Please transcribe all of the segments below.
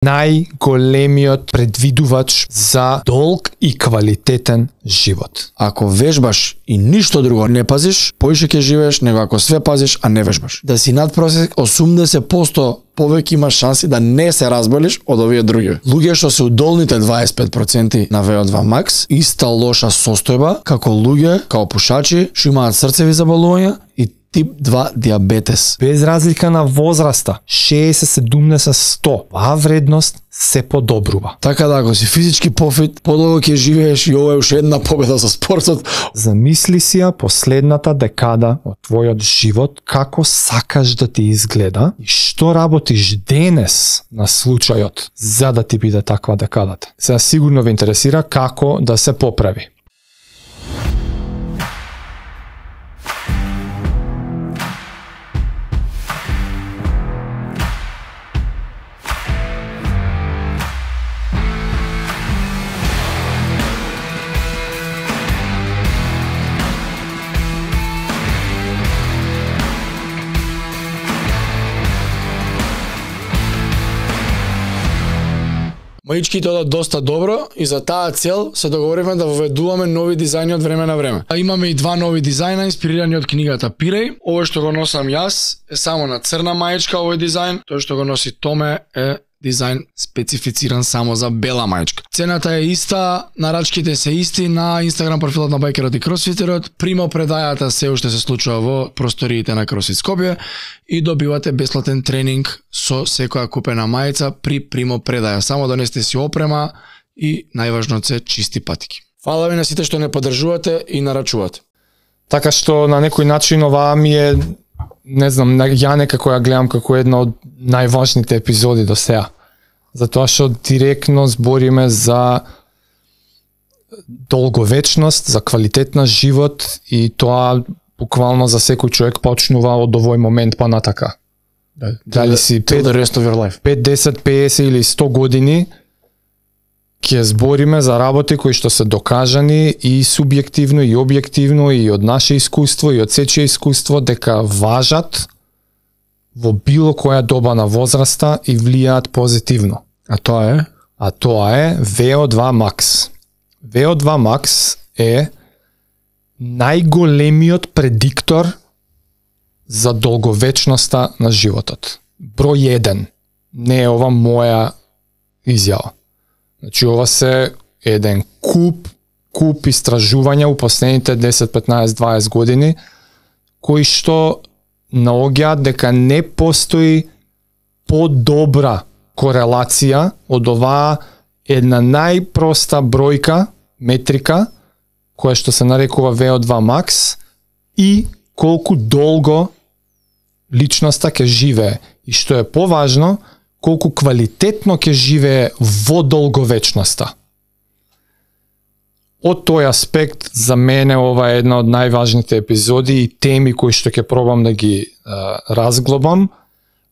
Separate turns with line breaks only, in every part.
најголемиот предвидувач за долг и квалитетен живот.
Ако вежбаш и ништо друго не пазиш, поише ќе живееш него ако све пазиш, а не вежбаш. Да си над просек 80% повеќе имаш шанси да не се разболиш од овие други. Луѓе што се удолните 25% на VO2 Max, иста лоша состојба како луѓе, како пушачи, што имаат срцеви заболувања и тип 2 диабетес.
Без разлика на возраста, 60, 70, 100, оваа вредност се подобрува.
Така да, ако си физички пофит, подолго ќе живееш и ова е уште една победа со спортот.
Замисли си ја последната декада од твојот живот, како сакаш да ти изгледа и што работиш денес на случајот за да ти биде таква декадата. Сега сигурно ве интересира како да се поправи.
Маичките одат доста добро и за таа цел се договоривме да воведуваме нови дизајни од време на време. Имаме и два нови дизајна инспирирани од книгата Пиреј. Овој што го носам јас е само на црна маичка овој дизајн, тој што го носи Томе е дизајн специфициран само за бела маичка. Цената е иста, нарачките се исти на Инстаграм профилот на Байкерот и Кросфитерот. Примо предајата се уште се случува во просториите на Кросфит Скопје и добивате бесплатен тренинг со секоја купена мајца при примо предаја. Само донесете си опрема и најважно се чисти патики. Фала ви на сите што не поддржувате и нарачувате.
Така што на некој начин оваа ми е, не знам, ја некако ја гледам како една од најважните епизоди до сега. Затоа што директно збориме за долговечност, за квалитет на живот и тоа буквално за секој човек почнува од овој момент па натака. Дали си 5, 10, 50 или 100 години, ќе збориме за работи кои што се докажани и субјективно и објективно и од наше искуство и од сечие искуство дека важат во било која доба на возраста и влијаат позитивно.
А тоа е?
А тоа е VO2 Max. VO2 Max е најголемиот предиктор за долговечноста на животот. Број 1. Не е ова моја изјава. Значи ова се еден куп истражувања у последните 10, 15, 20 години кои што наоѓаат дека не постои подобра корелација од оваа една најпроста бројка, метрика, која што се нарекува VO2 Max и колку долго личноста ќе живее. И што е поважно, колку квалитетно ќе живее во долговечноста. Од тој аспект, за мене ова е една од најважните епизоди и теми кои што ќе пробам да ги разглобам,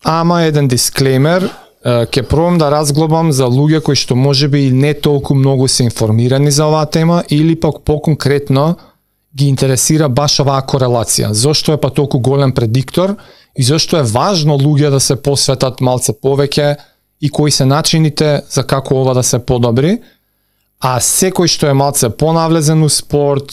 ама еден дисклеймер, ќе пробам да разглобам за луѓе кои што можеби и не толку многу се информирани за оваа тема или пак поконкретно ги интересира баш оваа корелација. Зошто е па толку голем предиктор и зошто е важно луѓе да се посветат малце повеќе и кои се начините за како ова да се подобри. А секој што е малце понавлезен у спорт,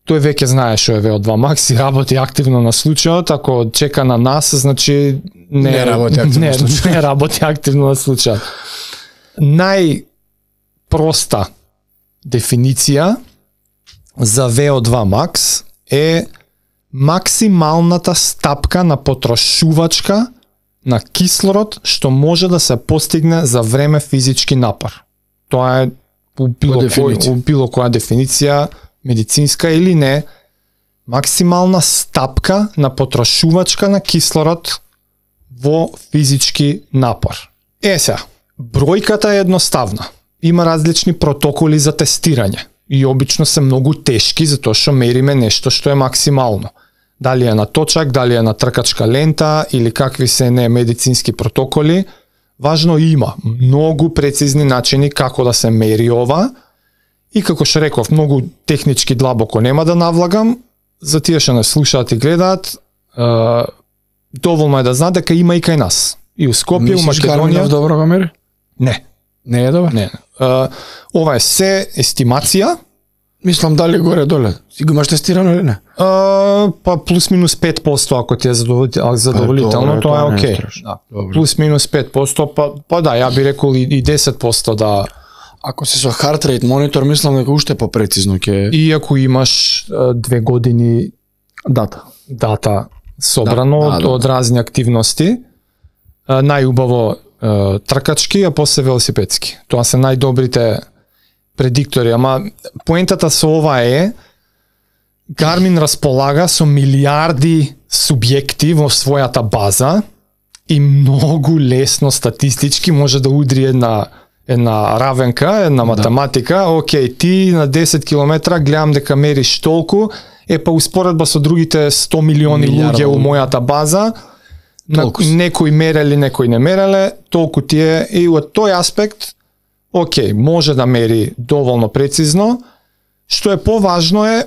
тој веќе знае што е VO2 Max и работи активно на случајот. Ако чека на нас, значи не работи активно на случајот. Најпроста дефиниција за VO2 Max е максималната стапка на потрошувачка на кислород што може да се постигне за време физички напор. Тоа е у било која дефиниција, медицинска или не, максимална стапка на потрошувачка на кислород во физички напор. Сега, бројката е едноставна. Има различни протоколи за тестирање и обично се многу тешки затоа што мериме нешто што е максимално. Дали е на точак, дали е на тркачка лента или какви се не медицински протоколи, важно има многу прецизни начини како да се мери ова и како што реков, многу технички длабоко нема да навлагам, за тие што не слушаат и гледаат, доволно е да знаат дека има и кај нас. И у Скопје, у Македонија.
Мислиш Гарминов добро го мери?
Не.
Не е добар?
Не. Ова е се естимација.
Мислам дали горе-доле. Си го имаш тестирано или не?
Па плюс минус 5% ако ти е задоволително, тоа е окей. Да. Плюс минус 5%, па да, ја би рекол и 10% да.
Ако си со heart rate монитор, мислам дека уште попрецизно ќе.
И ако имаш 2 години дата собрано од разни активности, најубаво тркачки, а после велосипедски. Тоа се најдобрите предиктори, ама поентата со ова е Garmin располага со милиарди субјекти во својата база и многу лесно статистички може да удри една равенка, една математика, окей, ти на 10 километра гледам дека мериш толку, па успоредба со другите 100 милиони луѓе у мојата база, некои мереле, некои не мереле, толку ти е, и од тој аспект, окей, може да мери доволно прецизно. Што е поважно е,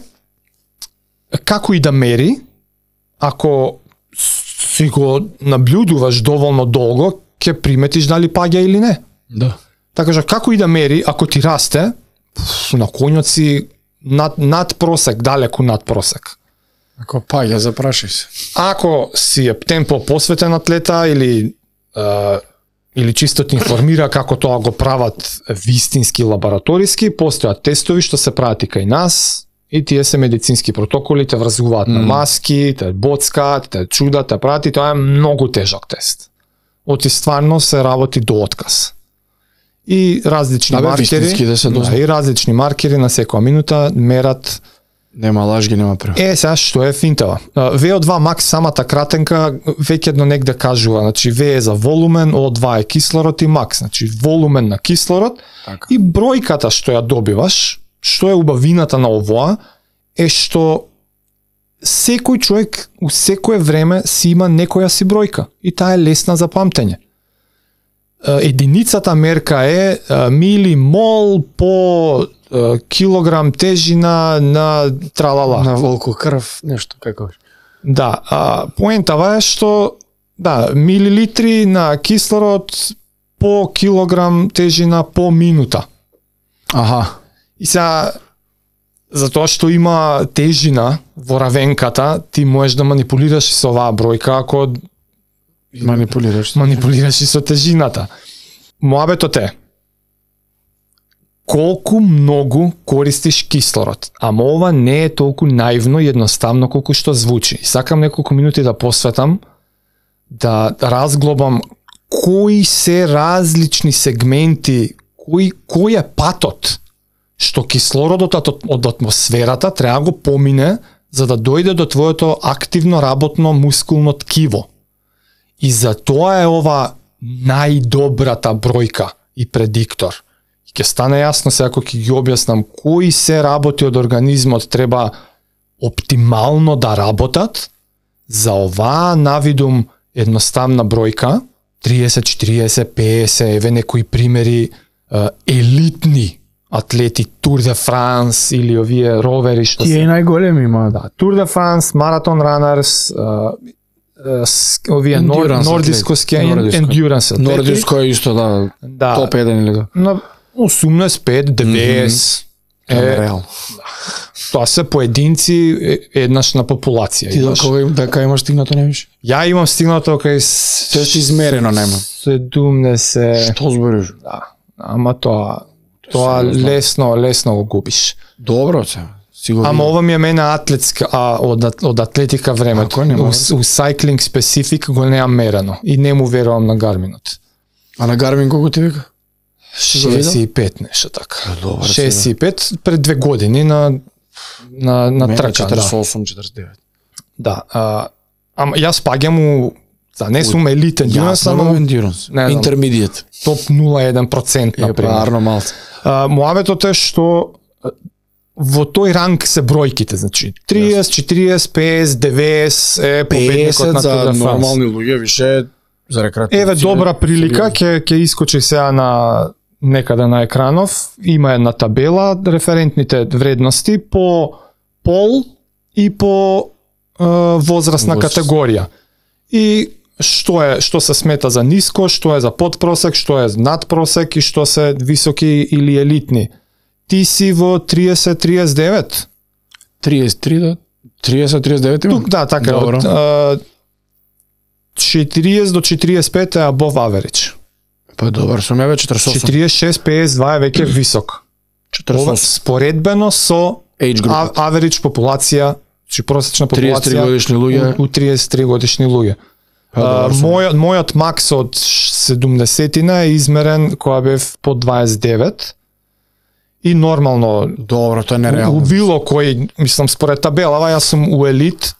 како и да мери, ако си го наблюдуваш доволно долго, ќе приметиш дали паѓа или не.
Да.
Така што како и да мери, ако ти расте, на коњот си над просек, далеку над просек.
Ако паѓа, запрашај се.
Ако си е темпо посветен атлета или чисто те информира како тоа го прават вистински лабораториски, постојат тестови што се прават и кај нас, и тие се медицински протоколи, те врзуваат на маски, те боцкаат, те чудат, те прават, и тоа е многу тежок тест. Оти стварно се работи до отказ. И различни маркери, и различни маркери на секоја минута мерат.
Нема лажги, нема прев.
Сега што е финтава? VO2 Max, самата кратенка, веќе негде кажува, значи V е за волумен, O2 е кислород и Max, значи волумен на кислород,
така.
И бројката што ја добиваш, што е убавината на овоа, е што секој човек у секое време си има некоја си бројка и таа е лесна за памтење. Единицата мерка е милимол по килограм тежина на тралала.
На волку крв, нешто како.
Да, поентава е што милилитри на кислород по килограм тежина по минута.
Аха.
И сега, затоа што има тежина во равенката, ти можеш да манипулираш со оваа бројка ако манипулираш и со тежината. Моабетот е колку многу користиш кислород. Ама ова не е толку наивно и едноставно колку што звучи. И сакам неколку минути да посветам да разглобам кои се различни сегменти, кој е патот што кислородот од атмосферата треба го помине за да дојде до твоето активно работно мускулно ткиво. И за тоа е ова најдобрата бројка и предиктор. И ќе стане јасно сега ако ќе ги објаснам кои се работи од организмот треба оптимално да работат за оваа навидум едноставна бројка, 30, 40, 50, еве некои примери елитни атлети Tour de France или овие ровери што
се. Тие најголеми има.
Да, Tour de France, Marathon Runners, овие нордиско-ски endurance.
Нордиско е исто топ 1 или да.
На 85, 90
реално.
Тоа се поединци еднаш на популација.
Ти дека имаш стигнато немиш?
Ја имам стигнато кај
Тоа си измерено нема.
70.
Што збориш?
Да. Ама тоа лесно го губиш.
Добро се.
Ама ова ми е мене атлетска, од атлетика времето. У cycling specific го неам мерено и не му верувам на Гарминот.
А на Гармин колку ти вика?
65 нешто така. 65 пред 2 години на трка.
48-49.
Да. Ама јас паѓам у не сум елитен endurance,
ама интермедијет.
Топ 0,1% например.
Арно малце.
Моабетот е што во тој ранг се бројките, значи 30, 40, 50, 90 е победникот на Tour de France.
За нормални луѓе, више за рекреативци.
Еве добра прилика, ќе искочи сега на некаде на екранов, има една табела, референтните вредности по пол и по возрастна категорија. И што се смета за ниско, што е за подпросек, што е надпросек и што се високи или елитни. Ти си во 30-39?
33 до 30-39 имам?
Тук, да, така е.
Добро.
Од 40 до 45 е above average.
Па добар, сум ја веќе 48.
46-52 е веќе висок. Ова
48.
споредбено со
Age group.
average популација, чи просечна
33
популација
годишни луѓе.
у 33 годишни луѓе. Мојот макс од 70-тина е измерен кога бев по 29 и нормално
Добро, тоа е
у
нереално.
било кој, мислам според табелава, јас сум у елит,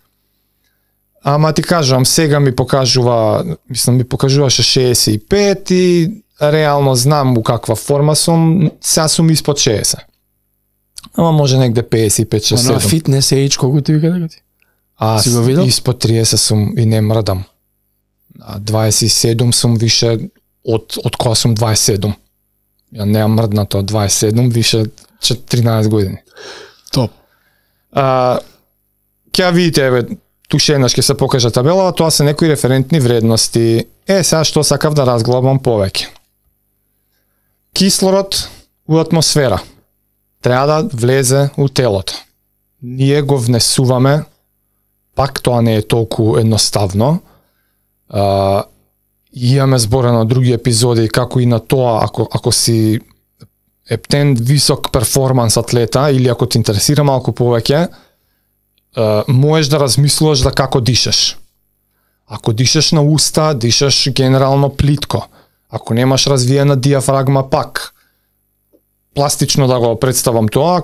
ама ти кажувам, сега ми покажуваше 65 и реално знам у каква форма сум, сега сум испод 60. Ама може негде 55-67.
На фитнес age колку ти вика дека ти?
Аз
Си го видел?
испод 30 сум и не мрдам. 27 сум више од кога сум 27. Ја неам мрднато од 27, више 13 години.
Топ.
Ќе видите, еве, тушенаш ќе се покажа табелава, тоа се некои референтни вредности. Сега што сакав да разглабам повеќе. Кислород у атмосфера треба да влезе у телото. Ние го внесуваме, пак тоа не е толку едноставно. Имаме зборено на други епизоди како и на тоа, ако си ептен висок перформанс атлета или ако те интересира малку повеќе, можеш да размислуваш да како дишаш. Ако дишаш на уста, дишаш генерално плитко. Ако немаш развиена диафрагма, пак пластично да го представам тоа,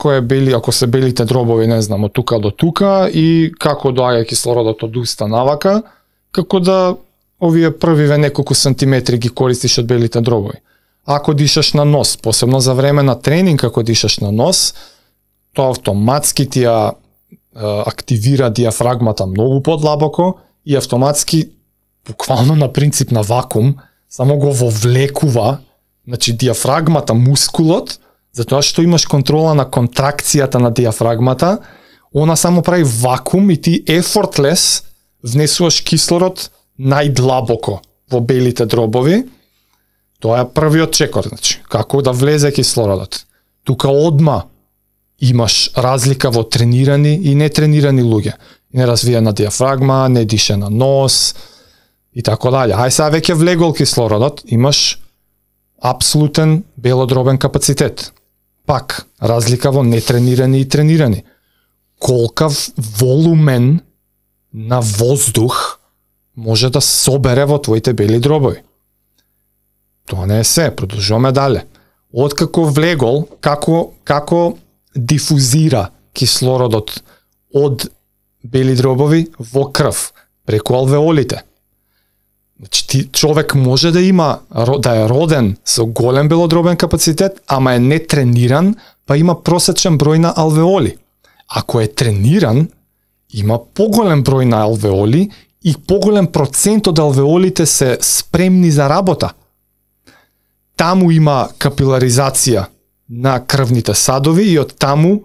ако се белите дробови, не знам, од тука до тука и како доаѓа кислородот од уста навака, како да овие првиве неколку сантиметри ги користиш од белите дробови. Ако дишаш на нос, посебно за време на тренинг, ако дишаш на нос, тоа автоматски ти ја активира диафрагмата многу подлабоко и автоматски, буквално на принцип на вакуум, само го вовлекува, значи диафрагмата, мускулот, затоа што имаш контрола на контракцијата на диафрагмата, она само прави вакуум и ти effortless внесуваш кислород најдлабоко во белите дробови. Тоа е првиот чекор, значи, како да влезе кислородот. Тука одма имаш разлика во тренирани и нетренирани луѓе. Неразвиена диафрагма, не дише на нос и така дале. Ај сега веќе влегол кислородот, имаш апсолутен белодробен капацитет. Пак, разлика во нетренирани и тренирани. Колкав волумен на воздух може да собере во твоите бели дробови. Тоа не е се, продолжуваме дале. Откако влегол, како дифузира кислородот од бели дробови во крв, преку алвеолите. Значи, човек може да има, да е роден со голем белодробен капацитет, ама е нетрениран, па има просечен број на алвеоли. Ако е трениран, има поголем број на алвеоли и поголем процент од алвеолите се спремни за работа. Таму има капиларизација на крвните садови и од таму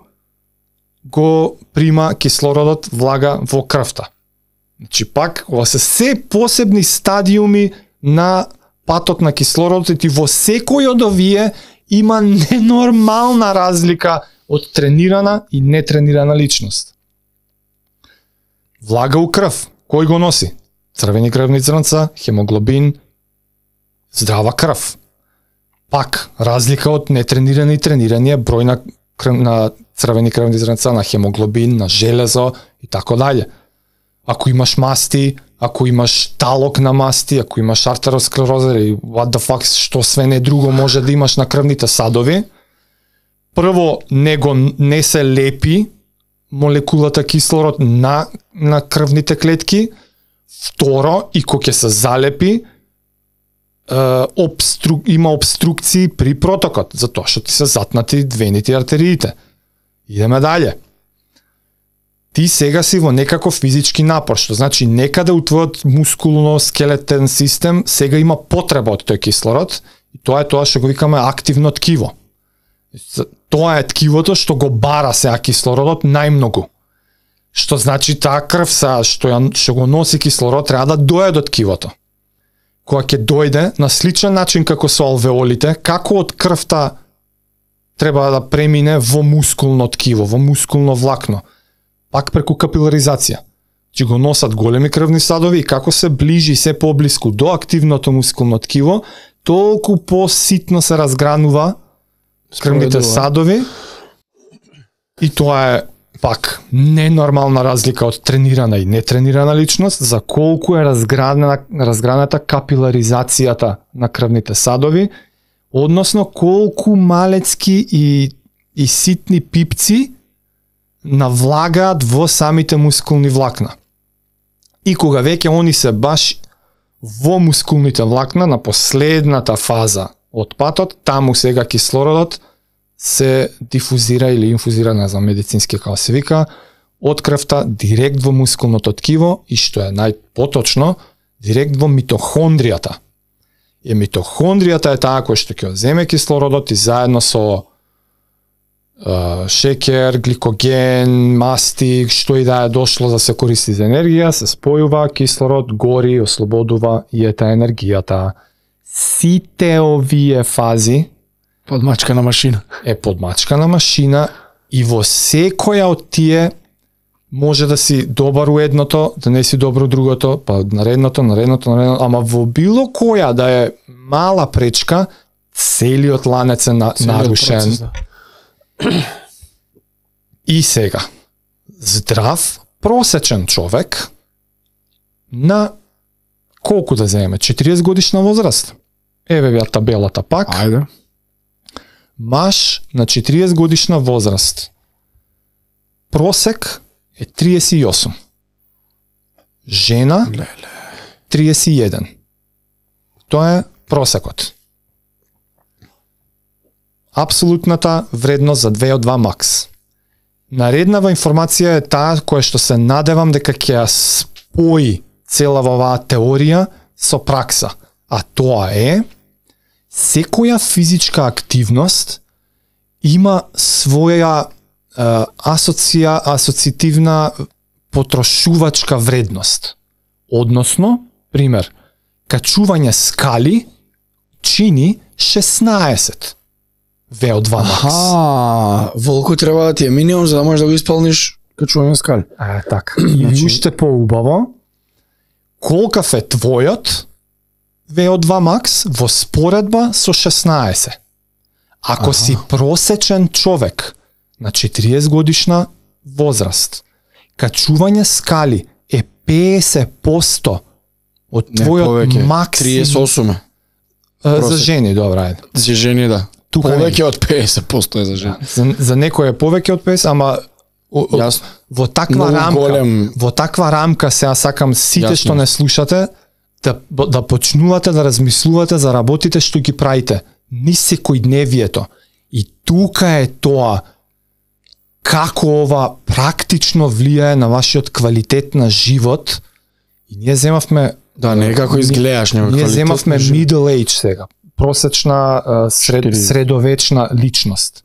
го прима кислородот, влага во крвта. Значи пак, ова се се посебни стадиуми на патот на кислородот и во секој од овие има ненормална разлика од тренирана и нетренирана личност. Влага у крв. Кој го носи? Црвени крвни зрнца, хемоглобин, здрава крв. Пак, разлика од нетренирани и тренирани е број на црвени крвни зрнца, на хемоглобин, на железо и така дале. Ако имаш масти, ако имаш талок на масти, ако имаш артеросклероза и what the fuck, што све не друго може да имаш на крвните садови, прво не се лепи молекулата кислород на крвните клетки, второ, и кога ќе се залепи, има обструкции при протокот, затоа што ти се затнати вените и артериите. Идеме дале. Ти сега си во некаков физички напор, што значи некаде у твојот мускулно-скелетен систем сега има потреба од тој кислород и тоа е тоа што го викаме активно ткиво. Тоа е ткивото што го бара сега кислородот најмногу. Што значи таа крв што го носи кислород треба да дојде до ткивото. Кога ќе дојде на сличен начин како со алвеолите, како од крвта треба да премине во мускулно ткиво, во мускулно влакно, пак преку капиларизација. Че го носат големи крвни садови и како се ближи се поблиску до активното мускулно ткиво, толку поситно се разгранува крвните садови и тоа е пак ненормална разлика од тренирана и нетренирана личност за колку е разграната капиларизацијата на крвните садови, односно колку малецки и ситни пипци навлагаат во самите мускулни влакна. И кога веќе они се баш во мускулните влакна на последната фаза од патот, таму сега кислородот се дифузира или инфузира, не знам медицински како се вика, од крвта директ во мускулното ткиво и што е најпоточно, директ во митохондријата. И митохондријата е таа која што ќе земе кислородот и заедно со шекер, гликоген, масти, што и да е дошло да се користи за енергија, се спојува, кислород гори, ослободува и ета енергијата. Сите овие фази
подмачка на машина.
Е подмачка на машина и во секоја од тие може да си добар у едното, да не си добро у другото, па наредното, ама во било која да е мала пречка, целиот ланец е нарушен.
Процес, да.
И сега, здрав, просечен човек на колку да земеме? 40 годишна возраст. Еве ја табелата пак.
Ајде.
Маж на 40 годишна возраст. Просек е 38. Жена 31. Тоа е просекот. Апсолутната вредност за 2 од 2 макс. Нареднава информација е таа која што се надевам дека ќе ја спои цела оваа теорија со пракса. А тоа е секоја физичка активност има своја асоциативна потрошувачка вредност. Односно, пример, качување скали чини 16 VO2 max.
Волку треба да ти е минимум за да можеш да го исполниш качување скали.
Така. И уште поубаво, колкав е твојот VO2 max во споредба со 16. Ако си просечен човек на 40 годишна возраст, качување скали е 50% од твојот максимум.
38.
За жени, добра, ајде.
За жени, да.
Тука
повеќе од 50% е за жени.
За некој е повеќе од 50, ама во таква рамка, во таква рамка сега сакам сите што не слушате да почнувате да размислувате за работите што ги правите низ секојдневието. И тука е тоа како ова практично влијае на вашиот квалитет на живот. И ние земавме
не како изгледаш,
ние земавме middle age сега, просечна средовечна личност.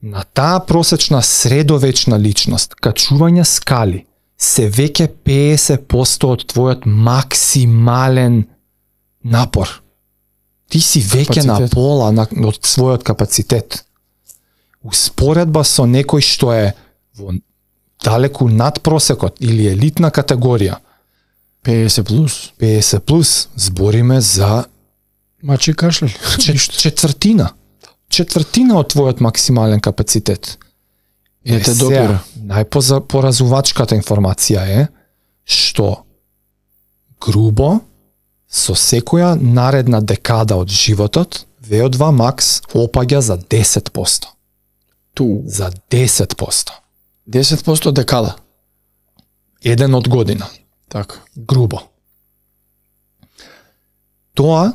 На таа просечна средовечна личност, качување скали се веќе 50% од твојот максимален напор. Ти си веќе на пола од својот капацитет. Успоредба со некој што е во далеку над просекот или елитна категорија, 50 плюс, збориме за
мачи кашле.
Четвртина од твојот максимален капацитет.
Ете допира.
Најпоразувачката информација е што грубо со секоја наредна декада од животот VO2 max опаѓа за 10%. За 10%.
10% декада.
Еден од година.
Така.
Грубо. Тоа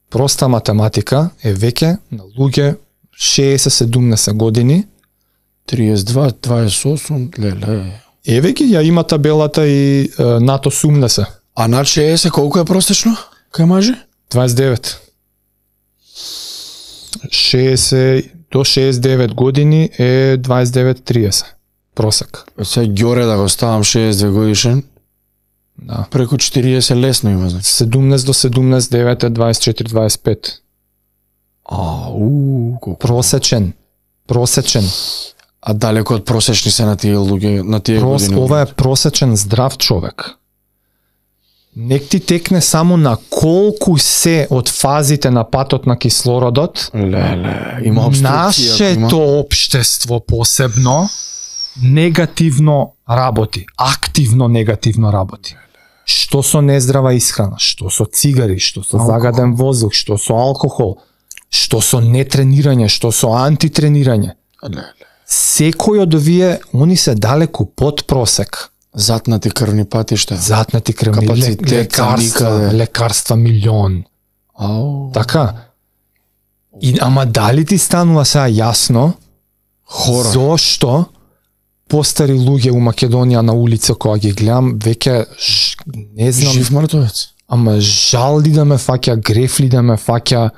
проста математика е веќе на луѓе 60-70 години.
32, 28, леле.
Еве ги ја има табелата и над 80.
А над 60 колку е простечно? Кај мажи?
29. 60 до 69 години е 29-30. просек.
Сега Ѓоре да го ставам 62 годишен,
Да.
преку 40 лесно има, значи.
17 до 17, 9 е 24, 25.
Колку.
Просечен.
А далеко од просечни се на тие луѓе, на тие години.
Ова е просечен здрав човек. Нек ти текне само на колку се од фазите на патот на кислородот.
Леле, има обструкција.
Нашето општество посебно негативно работи, активно негативно работи. Што со нездрава исхрана, што со цигари, што со загаден воздух, што со алкохол, што со нетренирање, што со антитренирање. Секој од овие, они се далеку под просек.
Затнати крвни патишта.
Затнати крвни
Капацитет
лекарства милион. Така. И ама дали ти станува сега јасно
Хора.
зошто постари луѓе у Македонија на улица кога ги гледам веќе не знам,
Жив мртвец.
ама жал ли да ме фаќа, греф ли да ме фаќа.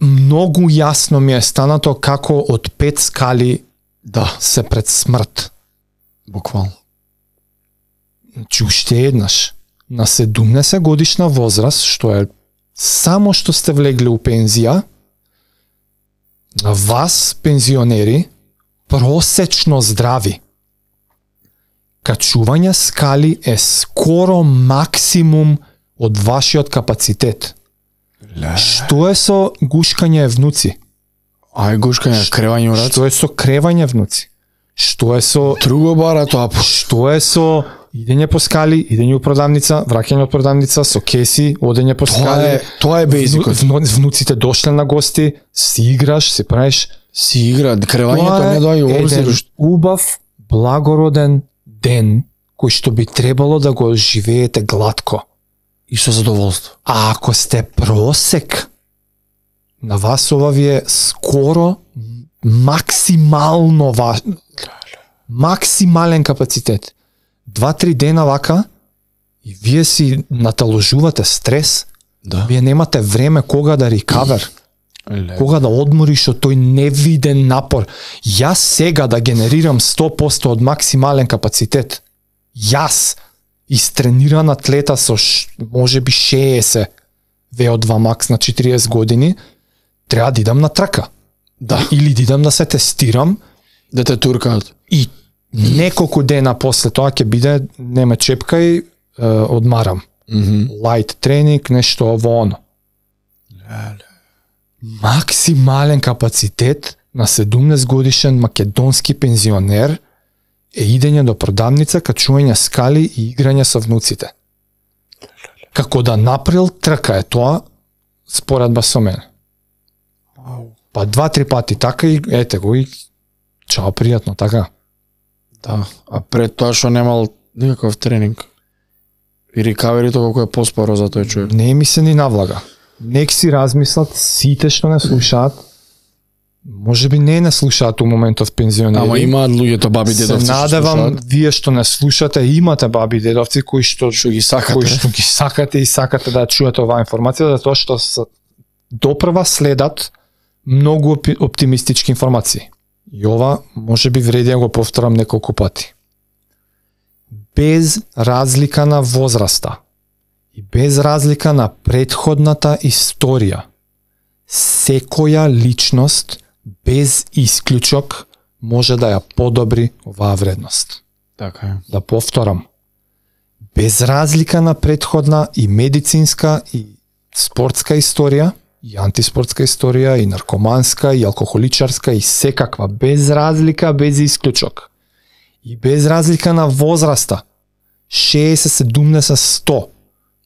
Многу јасно ми е станато како од 5 скали
Да,
се пред смрт.
буквално.
Значи уште еднаш на 70 годишна возраст, што е само што сте влегле у пензија, на вас пензионери просечно здрави. Качување скали е скоро максимум од вашиот капацитет. Што е со гушкање внуци?
Ај гушкање, кревање у раце.
Што е со кревање внуци? Што е со
Друго бара тоа.
Што е со идење по скали, идење у продавница, враќање од продавница, со кеси, одење по скали.
Тоа е бейзикот.
Внуците дошле на гости, си играш, си правиш.
Си игра, кревањето не доаѓа
Тоа е
обзир.
еден убав, благороден ден кој што би требало да го живеете глатко.
И со задоволство.
А ако сте просек, на вас ова ви е скоро максимално важно. Максимален капацитет. 2-3 дена вака и вие си наталожувате стрес,
Да.
вие немате време кога да рекавер, кога да одмориш од тој невиден напор. Јас сега да генерирам 100% од максимален капацитет. Јас, истрениран атлета со можеби 60 VO2 max на 40 години, треба да идам на трка.
Да.
Или да идам да се тестирам
Да те туркаат.
и неколку дена после тоа ќе биде не ме чепкај, одмарам. Light тренинг, нешто ово оно. Максимален капацитет на 17 годишен македонски пензионер е идење до продавница, качување скали и играње со внуците. Како да направил трка е тоа, споредба со мене. Па 2-3 пати така и ете го и чао, пријатно, така.
Да. А пред тоа што немал никаков тренинг. И рекаверито колку е поспоро за тој човек.
Не ми се ни навлага. Нек си размислат сите што не слушаат. Може би не слушаат у моментов пензионери.
Ама имаат луѓето баби дедовци.
Се надевам вие што не слушате, имате баби дедовци кои што
ги сакате.
Кои што ги сакате и сакате да чуете оваа информација, затоа што допрва следат многу оптимистички информации. И ова може би вреди да го повторам неколку пати. Без разлика на возраста и без разлика на претходната историја, секоја личност без исклучок може да ја подобри оваа вредност.
Така е.
Да повторам. Без разлика на претходна и медицинска и спортска историја, и антиспортска историја, и наркоманска, и алкохоличарска, и секаква, без разлика, без исклучок. И без разлика на возраста, 60, 70, 100,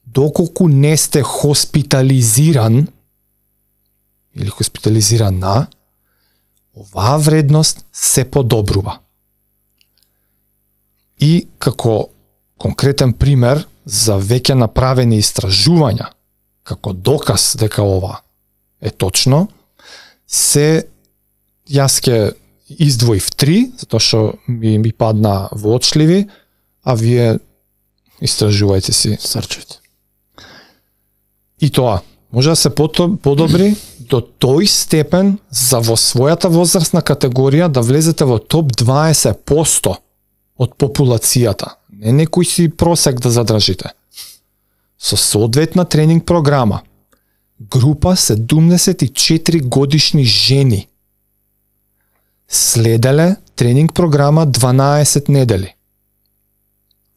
доколку не сте хоспитализиран, или хоспитализирана, оваа вредност се подобрува. И како конкретен пример за веќе направени истражувања, како доказ дека ова е точно, јас ќе издвоив 3, затоа што ми падна воочливи, а вие истражувајте си.
Срчете.
И тоа, може да се подобри до тој степен за во својата возрастна категорија да влезете во топ 20% од популацијата. Не некој си просек да задржите. Со соодветна тренинг програма. Група 74 годишни жени. Следеле тренинг програма 12 недели.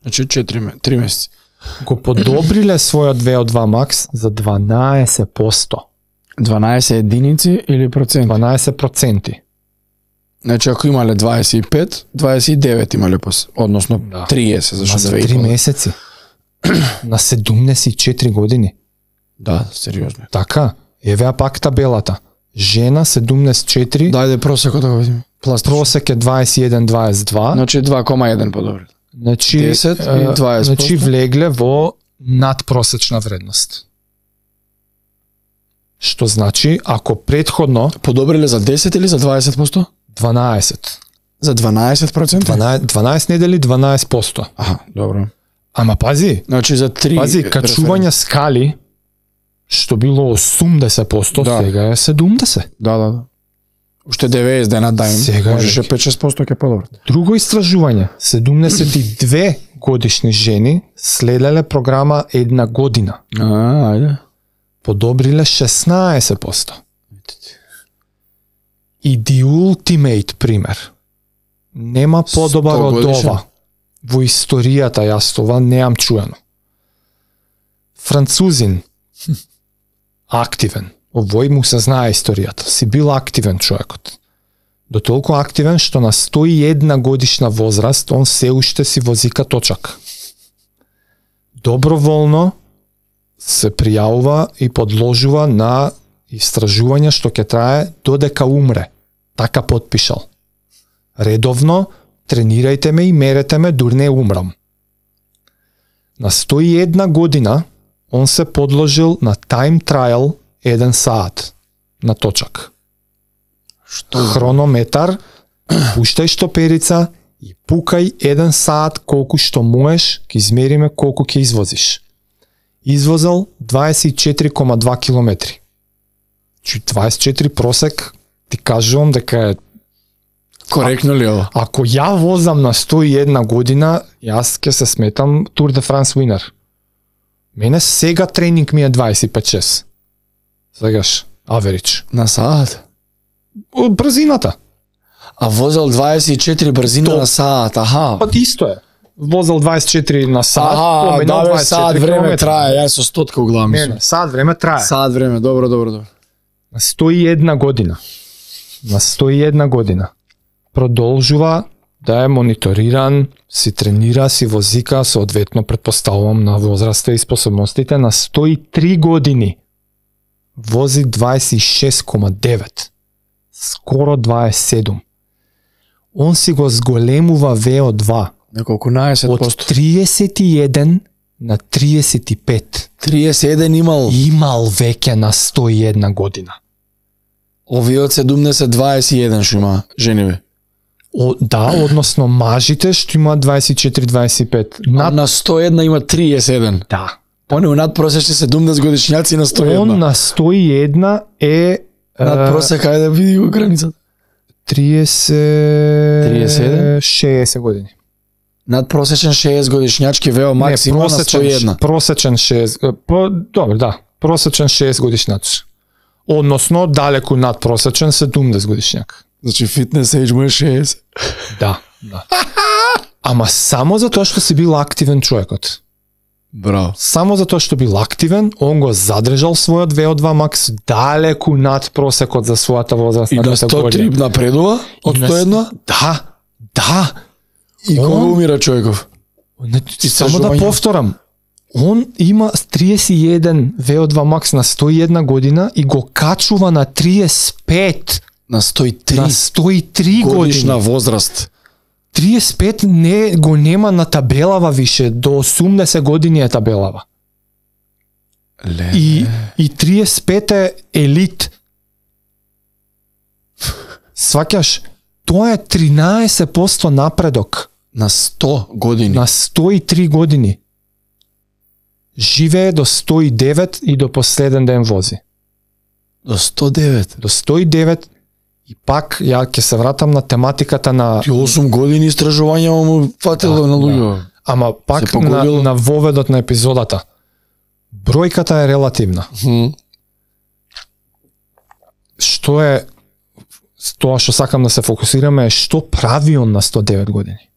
Значи 3 месеци.
Го подобриле својот VO2 max за 12%.
12 единици или проценти?
12%.
Значи ако имале 25, 29 имале односно 30, зашто
за 3 месеци. На 74 години.
Да, сериозно.
Така, евеа пак табелата. Жена 74.
Дајде просекот да го видиме.
Просек е 21-22.
Значи 2,1 подобри.
Значи
10 и 20%.
Значи влегле во надпросечна вредност. Што значи, ако претходно
подобриле за 10 или за 20%?
12.
За 12%?
12 недели 12%.
Аха, добро.
Ама пази.
Значи за 3.
Пази, качување скали што било 80%,
да.
Сега е 70.
Да. Уште 90 дена дајм.
Сега
можеше 5-6% ќе подобри.
Друго истражување, 72 годишни жени следеле програма 1 година.
Ајде.
Подобриле 16%. И the ultimate пример. Нема подобар од ова. Во историјата јас това неам чуено. Французин, активен. Овој му се знае историјата. Си бил активен човекот. До толку активен што на 101 годишна возраст он се уште си возика точак. Доброволно се пријавува и подложува на истражување што ќе трае додека умре. Така потпишал. Редовно тренирајте ме и мерете ме дур не умрам. На 101 година он се подложил на time trial 1 саат на точак.
Што?
Хронометар, пуштај штоперица и пукај 1 саат колку што можеш, ќе измериме колку ќе извозиш. Извозал 24,2 километри. 24 просек, ти кажувам дека е
коректно ли ова?
Ако ја возам на 101 година, јас ќе се сметам Tour de France winner. Мене сега тренинг ми е 25-6. Сегаш, average.
На саат?
Брзината.
А возел 24 брзина на саат, аха.
Па исто е. Возел 24 на саат, поменал 24
саат време
километри.
трае, јас со стотка углавам.
Не, саат време трае.
Саат време, добро.
На 101 година. На 101 година. Продолжува да е мониториран, си тренира, си возика, соодветно предпоставувам на возраста и способностите. На 103 години вози 26,9. Скоро 27. Он си го зголемува VO2.
Неколку 11%.
Од 31 на 35.
31 имал.
Имал веќе на 101 година.
Овие од 70 21 што има жениве.
Да, односно мажите што има 24-25.
На 101 има 31.
Да.
Они у надпросечни 70 годишњаци на 101.
Он на 101 е
надпросек, ајде да види го границата.
30 60 години.
Надпросечен 60 годишњачки ВО максимум на 101.
Просечен 6. Добро, да. Просечен 6 годишњач. Односно далеку надпросечен 70 годишњак.
Значи фитнес age му е 60.
Да. Ама само затоа што си бил активен човекот.
Браво.
Само затоа што бил активен, он го задржал својот VO2 max далеку над просекот за својата возрастна категорија.
И на 103 напредува од 101?
Да.
И кога умира човеков?
Само да повторам. Он има 31 VO2 max на 101 година и го качува на 35.
На 103.
На 103
годишна
години.
возраст.
35 не го нема на табелава више, до 80 години е табелава. И 35 е елит. Сваќаш, тоа е 13% напредок.
На 100 години.
На 103 години. живее до 109 и до последен ден вози.
До 109.
До 109 и пак ја ќе се вратам на тематиката на...
Ти 8 години истражување му фатило на луѓе.
Ама пак на воведот на епизодата. Бројката е релативна. Што е тоа што сакам да се фокусираме е што прави он на 109 години.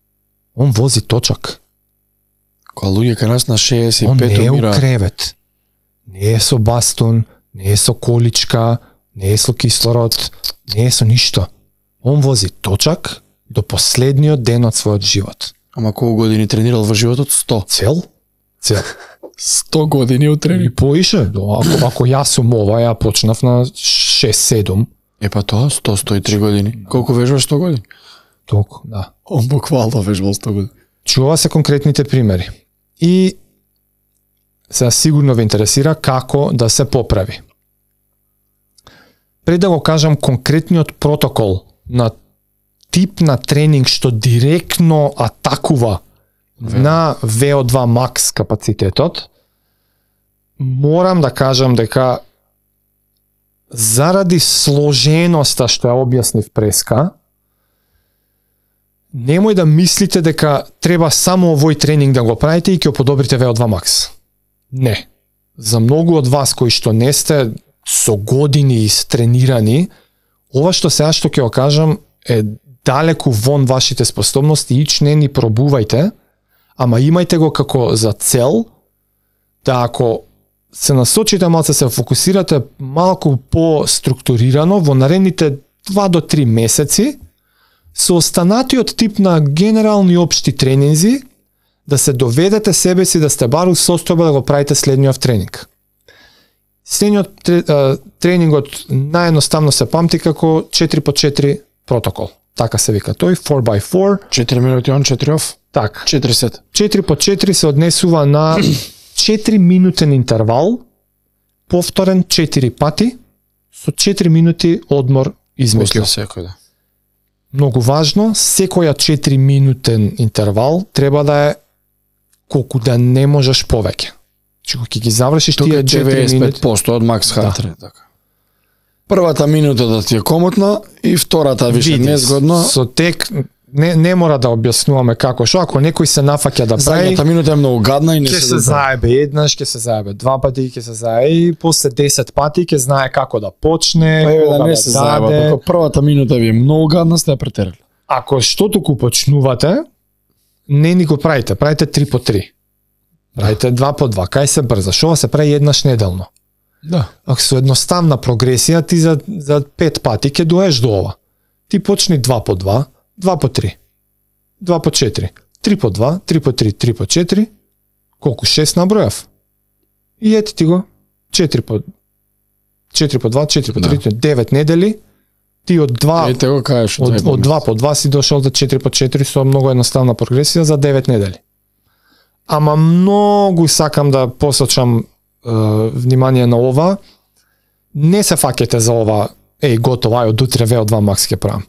Он вози точак.
Кога луѓе кај нас на 65
он не е у
умира.
кревет. Не е со бастун, не е со количка, не е со кислород, не е со ништо. Он вози точак до последниот ден од својот живот.
Ама колку години тренирал во животот? 100.
Цел?
100 години у
И
тренинг.
поише, ако јас сум ова, ја почнав на 6-7.
Па тоа 100-103 години. Колку вежбаш 100 години?
Толку, да.
Он буквално вежбал 100 години.
Чува се конкретните примери. И сега сигурно ве интересира како да се поправи. Пред да го кажам конкретниот протокол на тип на тренинг што директно атакува на VO2 max капацитетот, морам да кажам дека заради сложеноста што ја објаснив преска, немој да мислите дека треба само овој тренинг да го правите и ќе подобрите VO2 max. Не. За многу од вас кои што не сте со години истренирани, ова што сега што ќе го кажам е далеку вон вашите способности, ич не ни пробувајте, ама имајте го како за цел да ако се насочите малце, се фокусирате малку по-структурирано во наредните 2 до 3 месеци, со останатиот тип на генерални општи тренинзи, да се доведете себе си да сте бару состојба да го правите следниот тренинг. Следниот тренингот наједноставно се памти како 4x4 протокол. Така се вика тој, 4x4.
4 минути он, 4 оф.
Така.
4 сет.
4x4 се однесува на 4 минутен интервал, повторен 4 пати, со 4 минути одмор измеѓу.
После секој, да.
Многу важно, секоја 4 минутен интервал треба да е колку да не можеш повеќе. Че кога ќе ги завршиш
Тука
тие
е
4 минути,
95% од макс хартре, така. Првата минута да ти е комотна и втората више
види,
незгодно.
со тек не мора да објаснуваме како што, ако некој се нафаќа да прави,
Задната минута е многу гадна и не
ќе
се
се заебе еднаш, ќе се заебе два пати, ќе се заебе и после 10 пати ќе знае како да почне, кога
да не се заеба,
даде.
докато првата минута ви е многу гадна, сте ја претерали.
Ако што туку почнувате, не ни го правите, правите 3 по 3. Правите 2 по 2, кај се брза, шо се прави еднаш неделно.
Да.
Ако со едноставна прогресија, ти за 5 пати ќе доеш до ова. Ти почни 2 по 2, 2 по 3, 2 по 4, 3 по 2, 3 по 3, 3 по 4, колку 6 набројав. И ете ти го, 4 по 4 по 2, 4 по 3, 9 недели, ти од 2
Ете го кажеш
од 2 по 2 си дошол до 4 по 4 со многу едноставна прогресија за 9 недели. Ама многу сакам да посочам внимание на ова. Не се фаќате за ова, готово, ај од утре VO2 max ќе правам.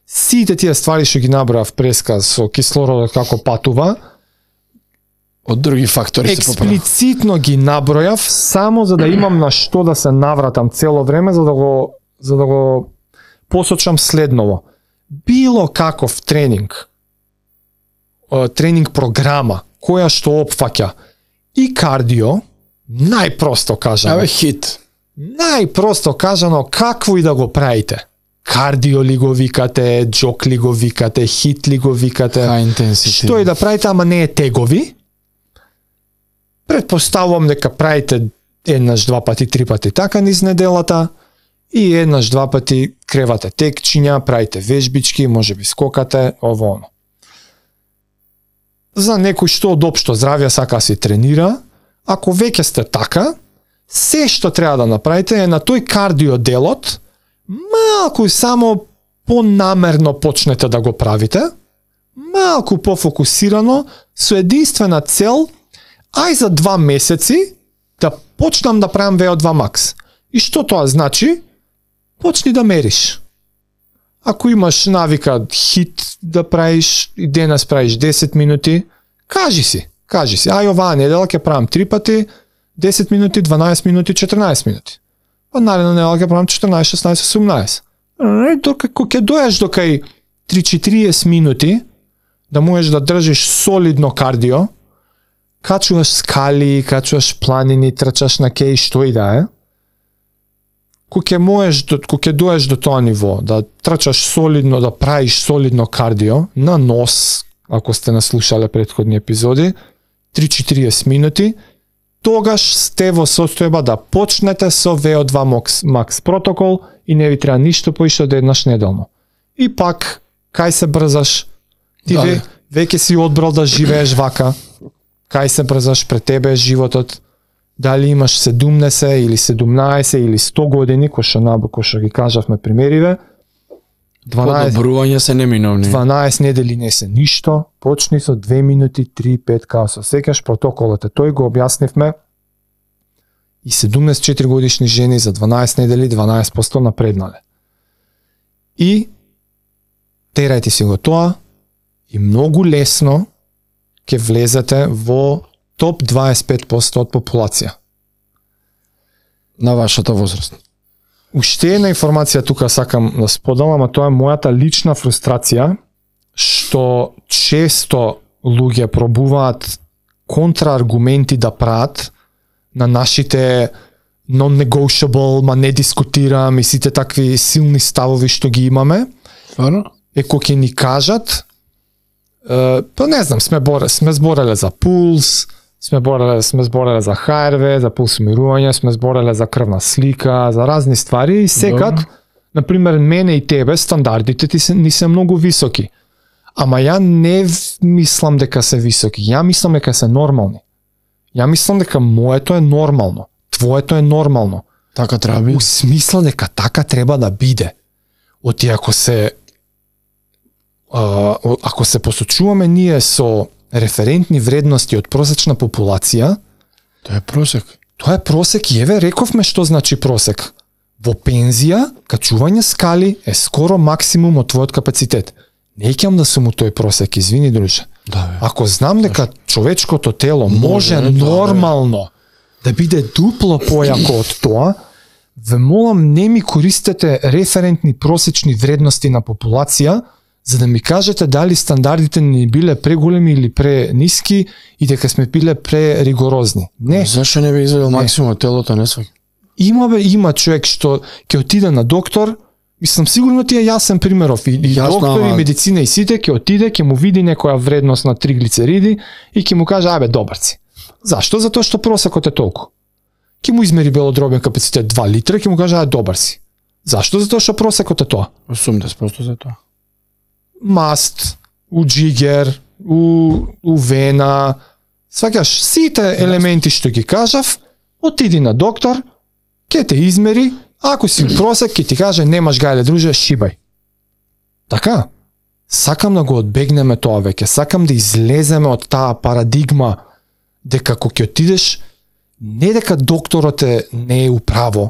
Сите тие ствари што ги набрав преска со кислородот како патува,
од други фактори се поправа.
експлицитно ги набројав само за да имам на што да се навратам цело време за да го посочам следново. Било каков тренинг програма која што опфаќа и кардио, најпросто кажано.
Абе хит.
Најпросто кажано, какво и да го правите. Кардио ли го викате, джок ли го викате, хит ли го викате.
High intensity.
Што и да правите, ама не е тегови. Предпоставувам дека правите еднаш, два пати, три пати така низ неделата и еднаш, два пати кревате текчиња, правите вежбички, можеби скокате, ово оно. За некој што од општо здравје сака си тренира, ако веќе сте така, се што треба да направите е на тој кардио делот, малку само понамерно почнете да го правите, малку пофокусирано, со единствена цел, ај за 2 месеци да почнам да правам VO2 max. И што тоа значи? Почни да мериш. Ако имаш навика хит да правиш и денес правиш 10 минути, кажи си, Кажи си, ај оваа недела ќе правам 3 пати, 10 минути, 12 минути, 14 минути. Па наредна недела ќе правам 14, 16, 18. Кога ќе доеш до кај 3-40 минути, да можеш да држиш солидно кардио, качуваш скали, качуваш планини, трчаш на кеј што и да е, кога ќе доеш до тоа ниво, да трчаш солидно, да правиш солидно кардио, на нос, ако сте наслушале претходни епизоди, 3-40 минути, тогаш сте во состојба да почнете со VO2 Max протокол и не ви треба ништо поише од еднаш неделно. И пак, кај се брзаш, ти веќе си одбрал да живееш вака, кај се брзаш, пред тебе е животот, дали имаш 70 или 17 или 100 години, кој што ги кажавме примериве,
12 подобрување се неминовни.
12 недели не се ништо, почни со 2 минути, 3, 5, као со секаш протоколот е тој, го објаснивме, и 74 годишни жени за 12 недели 12% напреднале. И терајте си го тоа и многу лесно ќе влезете во топ 25% од популација.
На вашата возраст.
Уште една информација тука сакам да споделам, а тоа е мојата лична фрустрација, што често луѓе пробуваат контрааргументи да прават на нашите non-negotiable, ма не дискутирам и сите такви силни ставови што ги имаме.
Стварно?
Кога ќе ни кажат, па не знам, сме збореле за пулс, сме збореле за ХРВ, за пулсомирување, сме збореле за крвна слика, за разни ствари и секад, например, мене и тебе стандардите ни се многу високи. Ама ја не мислам дека се високи, ја мислам дека се нормални. Ја мислам дека моето е нормално, твоето е нормално.
Така треба биде.
У смисла дека така треба да биде. Оти ако се посочуваме ние со референтни вредности од просечна популација,
тоа е просек.
Тоа е просек и еве рековме што значи просек. Во пензија, качување скали е скоро максимум од твојот капацитет. Не икам да сум у тој просек, извини друже.
Да,
ако знам дека човечкото тело може нормално да биде дупло појако од тоа, ве молам не ми користете референтни просечни вредности на популација, за да ми кажете дали стандардите ни биле преголеми или прениски и дека сме биле преригорозни. Не.
Зашо не би извадил максимум од телото, не сваќам?
Има човек што ќе отиде на доктор, мислам сигурно ти е јасен примеров и доктор и медицина и сите ќе отиде, ќе му види некоја вредност на триглицериди и ќе му каже абе добар си. Зашто? Затоа што просекот е толку. Ќе му измери белодробен капацитет 2 литра, ќе му каже абе добар си. Зашто? Затоа што просекот е тоа.
80% за тоа.
Маст, у джигер, у вена, сваќаш сите елементи што ги кажав, отиди на доктор, ќе те измери, ако си просек ќе ти каже немаш гајле друже, шибај. Така, сакам да го одбегнеме тоа веќе, сакам да излеземе од таа парадигма дека кога ќе отидеш, не дека докторот не е управо,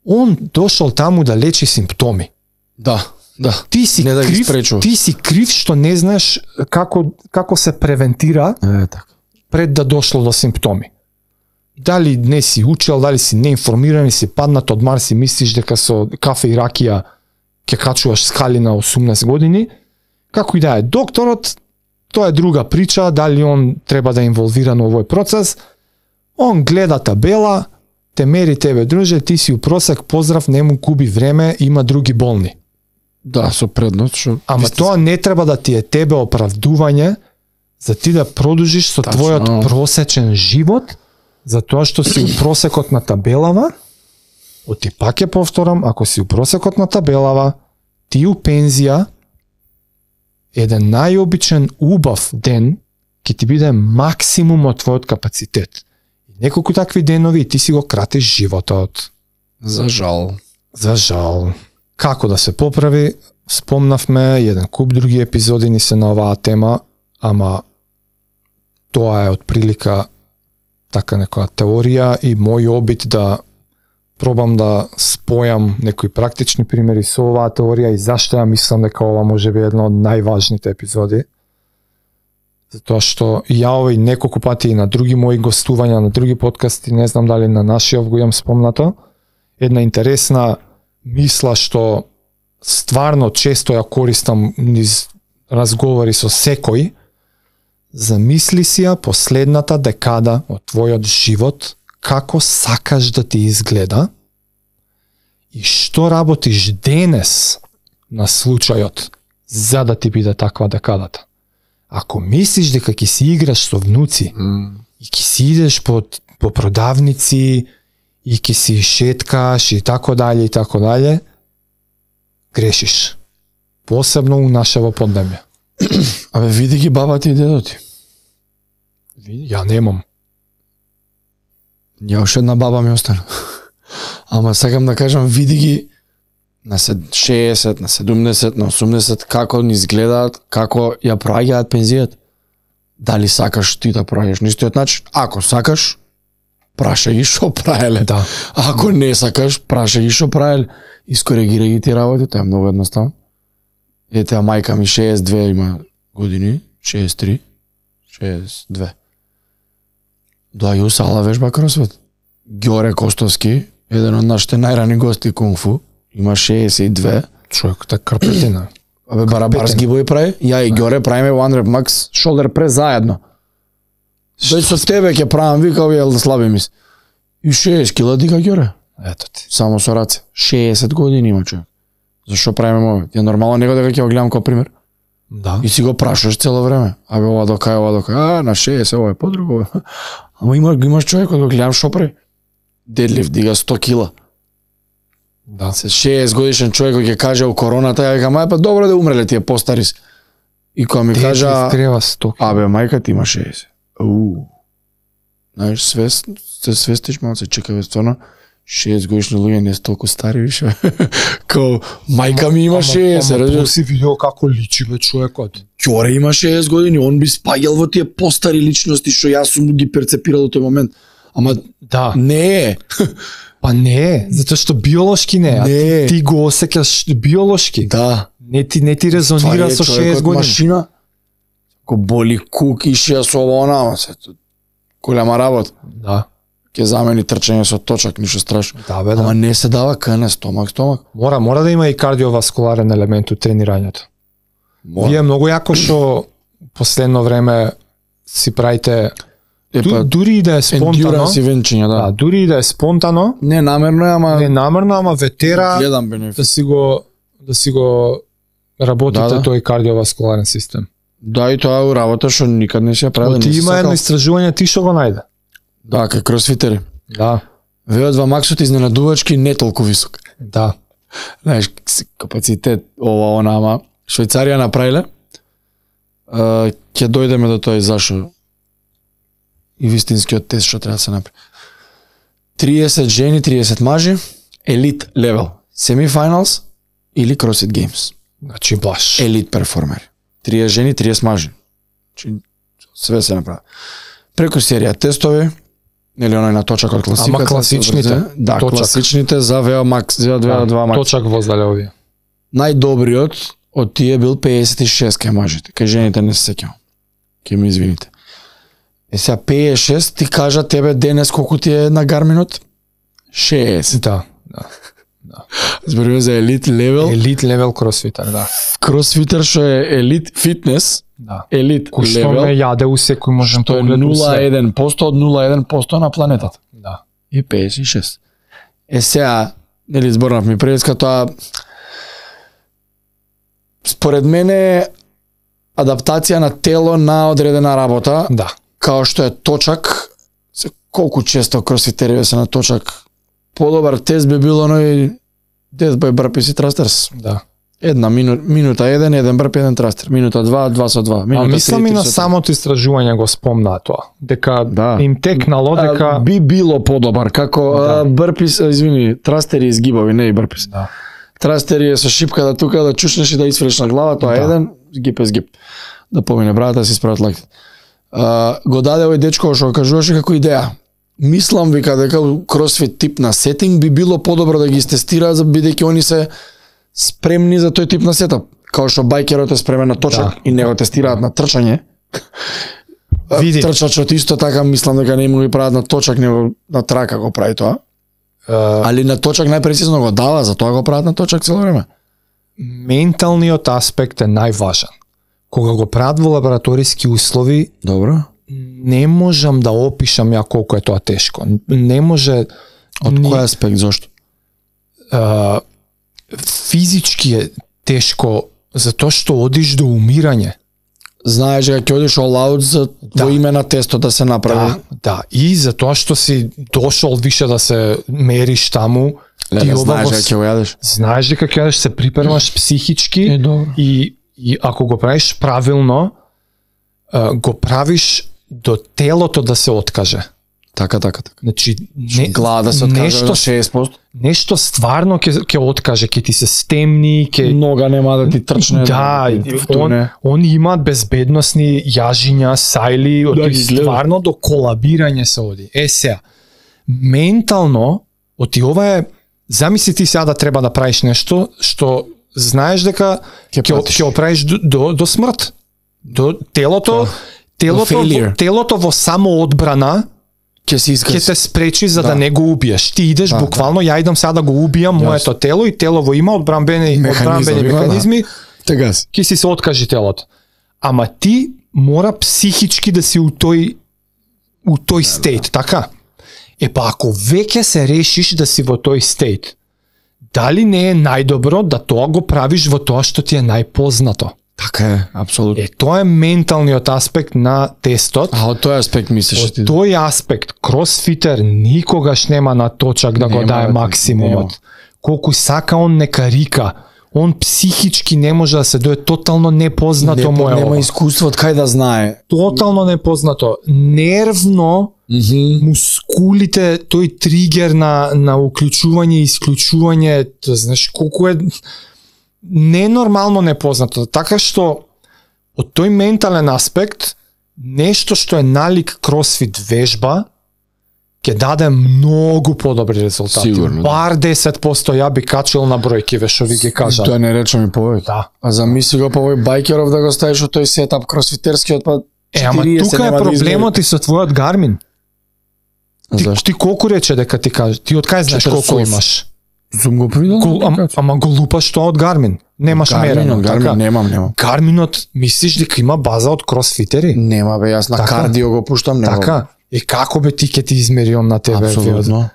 он дошол таму да лечи симптоми.
Да.
Ти си
не
крив што не знаеш како се превентира
така.
Пред да дошло до симптоми. Дали не си учел, дали си неинформиран и си паднат од Марс и мислиш дека со кафе и ракија ќе качуваш скали на 18 години, како и да е докторот, тоа е друга прича, дали он треба да е инволвиран во овој процес, он гледа табела, те мери тебе друже, ти си у просек, поздрав, не му губи време, има други болни.
Да, со предност.
Ама тоа не треба да ти е тебе оправдување за ти да продолжиш со твојот просечен живот, затоа што си у просекот на табелава. Оти пак ја повторам, ако си у просекот на табелава, ти у пензија, еден најобичен убав ден ќе ти биде максимум од твојот капацитет. И неколку такви денови и ти си го кратиш животот.
За жал. Како
да се поправи, спомнавме еден куп други епизоди ни се на оваа тема, ама тоа е од прилика така некоја теорија и мој обид да пробам да спојам некои практични примери со оваа теорија и зашто ја мислам дека ова може би една од најважните епизоди. Затоа што ја овој неколку пати и на други мои гостувања, на други подкасти, не знам дали на нашиот го имам спомнато, една интересна мисла што стварно често ја користам низ разговори со секој. Замисли си ја последната декада од твојот живот, како сакаш да ти изгледа и што работиш денес на случајот за да ти биде таква декадата. Ако мислиш дека ќе си играш со внуци и ќе си идеш по продавници и ќе си шеткаш и така дале, грешиш. Посебно у нашево поднебје.
Абе, види ги баба ти и дедо ти.
Ја немам.
Ја уште една баба ми остана. Ама сакам да кажам, види ги на 60, на 70, на 80, како ни изгледаат, како ја проаѓаат пензијата. Дали сакаш ти да проаѓаш на истиот начин? Ако сакаш, праша ги шо правеле.
Да.
Ако не сакаш, праша ги шо правеле. Искоригирај ги ти работи, тоа е многу едноставно. Ете, а мајка ми 62 има години, 63, 62. Доаѓа у сала вежба кросфит. Ѓоре Костовски, еден од нашите најрани гости кунг-фу, има 62.
Човек, така карпетина.
Абе, барабар сгибој прави. Ја и Ѓоре правиме one rep max shoulder press заедно. Дој со тебе ќе правам, вика, овие слаби мис. И 60 кила дига Ѓоре.
Ето ти.
Само со раце. 60 години има човек. Зашо правиме ова? Ја нормално него дека ќе го гледам како пример.
Да.
И си го прашаш цело време. Абе, ова дока, на 60, ова е подруго. Ама имаш човек кој го гледам шо прави. Дедлифт дига 100 кила.
Да.
Се 60 годишен човек кој ќе каже у короната, ја викам, па добро да умреле тие постари. И кога ми кажа,
треба 100 кила.
абе, мајка ти има 60. Знаеш, се свестиш малце, чекаве, стварно, 60 годишни луѓе не се толку стари више. Као, мајка ми има 60,
Ама
разбираш?
си видео како личи бе човекот.
Ќоре има 60 години, он би спаѓал во тие постари личности што јас сум ги перцепирал до тој момент. Ама
Да.
не е.
Па не, затоа што биолошки не, а
Не.
ти го осеќаш биолошки.
Да.
Не ти резонира со 6 години.
Машина. Ко боли кук и шија со ова она, ама се голема работа.
Да.
Ќе замени трчање со точак, ништо страшно.
Да бе,
Ама
да.
не се дава кане, стомак.
Мора да има и кардиоваскуларен елемент у тренирањето.
Мора.
Вие многу јако што последно време си правите дури и да е спонтано.
Endurance ивенчиња,
Да,
да.
дури и да е спонтано,
Не намерно е, ама
не намерно, ама ветера
гледам бенефит.
да си го работите
Да.
тој кардиоваскуларен систем.
Да, и тоа е работа што никад не се ја правил.
Ти има едно истражување, ти што го најде.
Да, кај кросфитери.
Да,
VO2 максот изненадувачки не толку висок.
да.
Знаеш, капацитет, ова, она, ама Швајцарија направиле. Ќе дојдеме до тој зашо и вистинскиот тест што треба да се направи. 30 жени, 30 мажи, елит левел, семифиналс или CrossFit Games.
Значи баш.
Елит перформери. 30 жени, 30 мажи. Значи, све се направи. Преку серија тестови, нели оној на точак од класиката.
Ама класичните,
да,
точак.
класичните за VO Max, за VO2 Max.
Точак воздале овие.
Најдобриот од тие бил 56 кај мажите. Кај жените не се сеќавам. Ке ми извините. Сега 56 ти кажа тебе денес колку ти е на Гарминот? 60.
Да.
Зборуваме за елит левел.
Елит левел кросфитер, да.
Кросфитер што е елит фитнес,
Да.
елит
Кој што
левел,
ме јаде у секој можен
што е
поглед у све.
0,1% од 0,1% на планетата.
Да.
И 56. Сега, нели зборнав ми преска тоа, според мене адаптација на тело на одредена работа,
Да.
као што е точак, колку често кросфитериве се на точак, подобар тест би било оној death by burpees и thrusters.
Да.
Една минута еден брп, еден трастер. Минута 2, 2 со 2.
А
Минута
мислам и
3,
на
3 со 3.
самото истражување го спомна тоа. Дека
Да.
им текнало дека
би било подобар како
Да.
брпис, извини, трастери и згибови, не и брпис.
Да.
Трастери е со шипка тука да чушнеш и да исфреш на глава, тоа е
Да.
еден, згиб е згиб. Да помине братата си справат лакти. Го даде овој дечко што го кажуваше како идеја. Мислам вика дека кросфит тип на сетинг би било подобро да ги истестираат бидејќи они се спремни за тој тип на сетап. Као што бајкерот е спремен на точак
Да.
и не го тестираат на трчање,
Види.
Трчачот исто така мислам дека не му ги прават на точак, него на трака го прави тоа. Али на точак најпрецизно го дава, затоа го прават на точак цело време.
Менталниот аспект е најважен. Кога го прават во лабораториски услови,
Добро.
не можам да опишам ја колку е тоа тешко. Не може...
Од кој аспект, зошто?
Физички е тешко, затоа што одиш до умирање.
Знаеш дека ќе одиш all out за во име на тесто да се направи.
Да, и затоа што си дошол више да се мериш таму,
Леле, знаеш дека ќе го јадеш.
Знаеш дека ќе јадеш, се припремаш психички и ако го правиш правилно, го правиш до телото да се откаже.
Така.
Значи,
глава да се откаже на 60%.
Нешто стварно ќе откаже, ќе ти се стемни,
нога нема да ти трчне.
Да, он има безбедносни јажиња, сајли, стварно до колабирање се оди. Сега, ментално, ова е, замисли ти сега да треба да правиш нешто што знаеш дека ќе го правиш до смрт. До телото во самоодбрана ќе те спречи за да не го убиеш. Ти идеш буквално, ја идам сега да го убијам моето тело и телово има одбранбени механизми. Ќе си се откажи телото. Ама ти мора психички да си у тој стейт, така? Па ако веќе се решиш да си во тој стейт, дали не е најдобро да тоа го правиш во тоа што ти е најпознато?
Така е, апсолутно.
Тоа е менталниот аспект на тестот.
Од тој аспект мислиш ти?
Од тој аспект, кросфитер никогаш нема на точак да го дае максимумот. Колку сака он нека рика, он психички не може да се дое, тотално непознато му е ова.
Нема искуство од кај да знае.
Тотално непознато. Нервно, мускулите, тој тригер на уклучување и исклучување, знаеш колку е ненормално непознато. Така што од тој ментален аспект, нешто што е налик кросфит вежба, ќе даде многу подобри резултати.
Сигурно.
Бар 10% ја би качил на бројки, што ви ги кажа.
Тоа не речам и повеќе.
Да.
А замисли го повој байкеров да го ставиш од тој сетап кросфитерскиот, па 40
ама тука е проблемот и со твојот Гармин. Ти колку рече дека ти кажеш? Ти од кај знаеш колку имаш?
Сум го придал.
Ама го лупаш тоа од Гармин. Немаш мерено.
Гармин немам.
Гарминот мислиш дека има база од кросфитери?
Нема бе, јас на кардио го пуштам, нема.
Така. Како бе ти ќе ти измери он на тебе?
Апсолутно.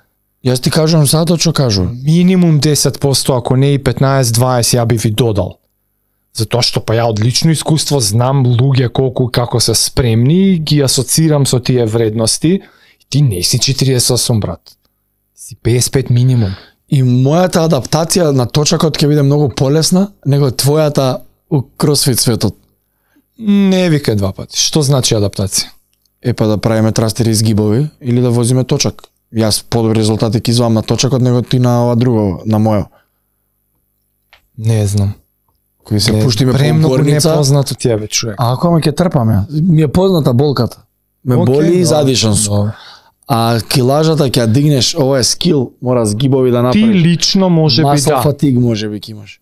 Јас ти кажувам сато што кажувам.
Минимум 10%, ако не и 15-20 ја би ви додал. Затоа што па ја од лично искуство знам луѓе колку како се спремни, ги асоцирам со тие вредности. Ти не си 48, брат. Си 55 минимум.
И мојата адаптација на точакот ќе биде многу полесна него твојата у кросфит светот.
Не викај два пати. Што значи адаптација?
Па да правиме трастери и згибови или да возиме точак. Јас подобри резултати ќе извам на точакот него ти на ова друго, на мојо.
Не знам.
Кој се пуштиме по
премногу
горница.
непознато ти е бе, човек.
А ако ме ќе трпам ја? Ми е позната болката. Ме боли и задишан сум. А килажата ќе ја дигнеш, ова е скил, мора згибови да направиш.
Ти лично може би
Масл
да.
фатиг може би ќе имаш.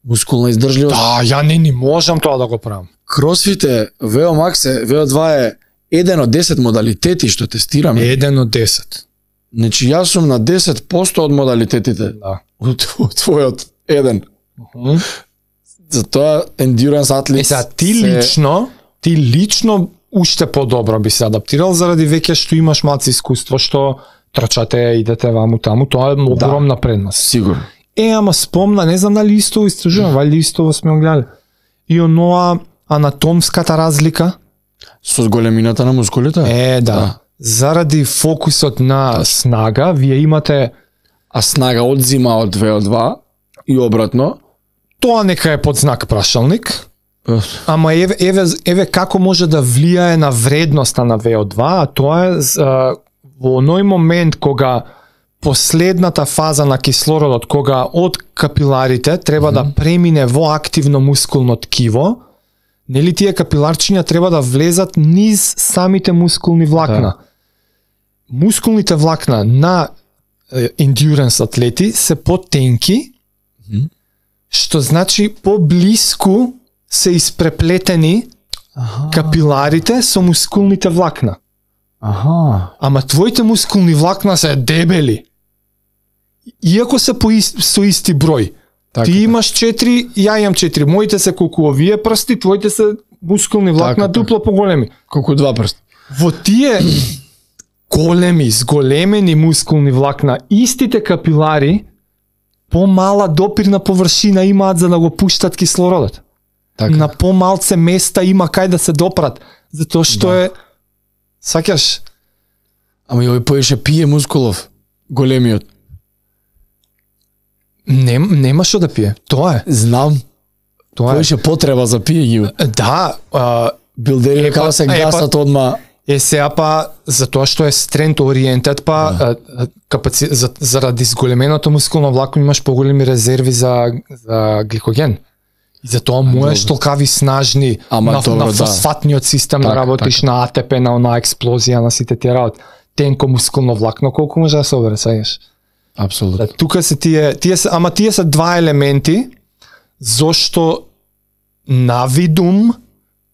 Мускулна издржливост.
Да, ја не можам тоа да го правам.
Кросфит е, VO Max е, VO2 е 1 од 10 модалитети што тестираме.
1 од 10.
Значи јас сум на 10% од модалитетите.
Да.
Од твојот 1. Затоа endurance атлет.
Сега ти лично уште подобро би се адаптирал заради веќе што имаш малце искуство што трчате, идете ваму таму, тоа е огромна предност.
Сигурно.
Ама спомна, не знам дали истово истражувам, вали истово сме го гледали. И оноа анатомската разлика
Со големината на мускулите?
Да. Заради фокусот на снага, вие имате...
А снага одзима од VO2 и обратно?
Тоа нека е под знак прашалник. Ама еве како може да влијае на вредноста на VO2, а тоа е во оној момент кога последната фаза на кислородот, кога од капиларите треба да премине во активно мускулно ткиво, нели тие капиларчиња треба да влезат низ самите мускулни влакна. Да. Мускулните влакна на endurance атлети се потенки, што значи поблиску се испреплетени капиларите со мускулните влакна. Ама твоите мускулни влакна се дебели. Иако се со исти број. Ти имаш 4, ја имам 4. Моите се колку овие прсти, твоите се мускулни влакна дупло поголеми.
Колку 2 прсти.
Во тие големи, зголемени мускулни влакна, истите капилари помала допирна површина имаат за да го пуштат кислородот. На помалце места има кај да се допрат, затоа што е сакаш.
Ама и овој поеше пие мускулов, големиот.
Нема што да пие. Тоа е.
Знам. Тоа поеше потреба за пие ги.
Да,
билдери како се гасат одма.
Сега затоа што е strength oriented, заради зголеменото мускулно влакно имаш поголеми резерви за гликоген. И затоа можеш толкави снажни на фосфатниот систем да работиш, на АТП, на она експлозија, на сите тие работи. Тенко мускулно влакно, колку може да се обере, сеќаш?
Апсолутно.
Тука се тие се два елементи зошто навидум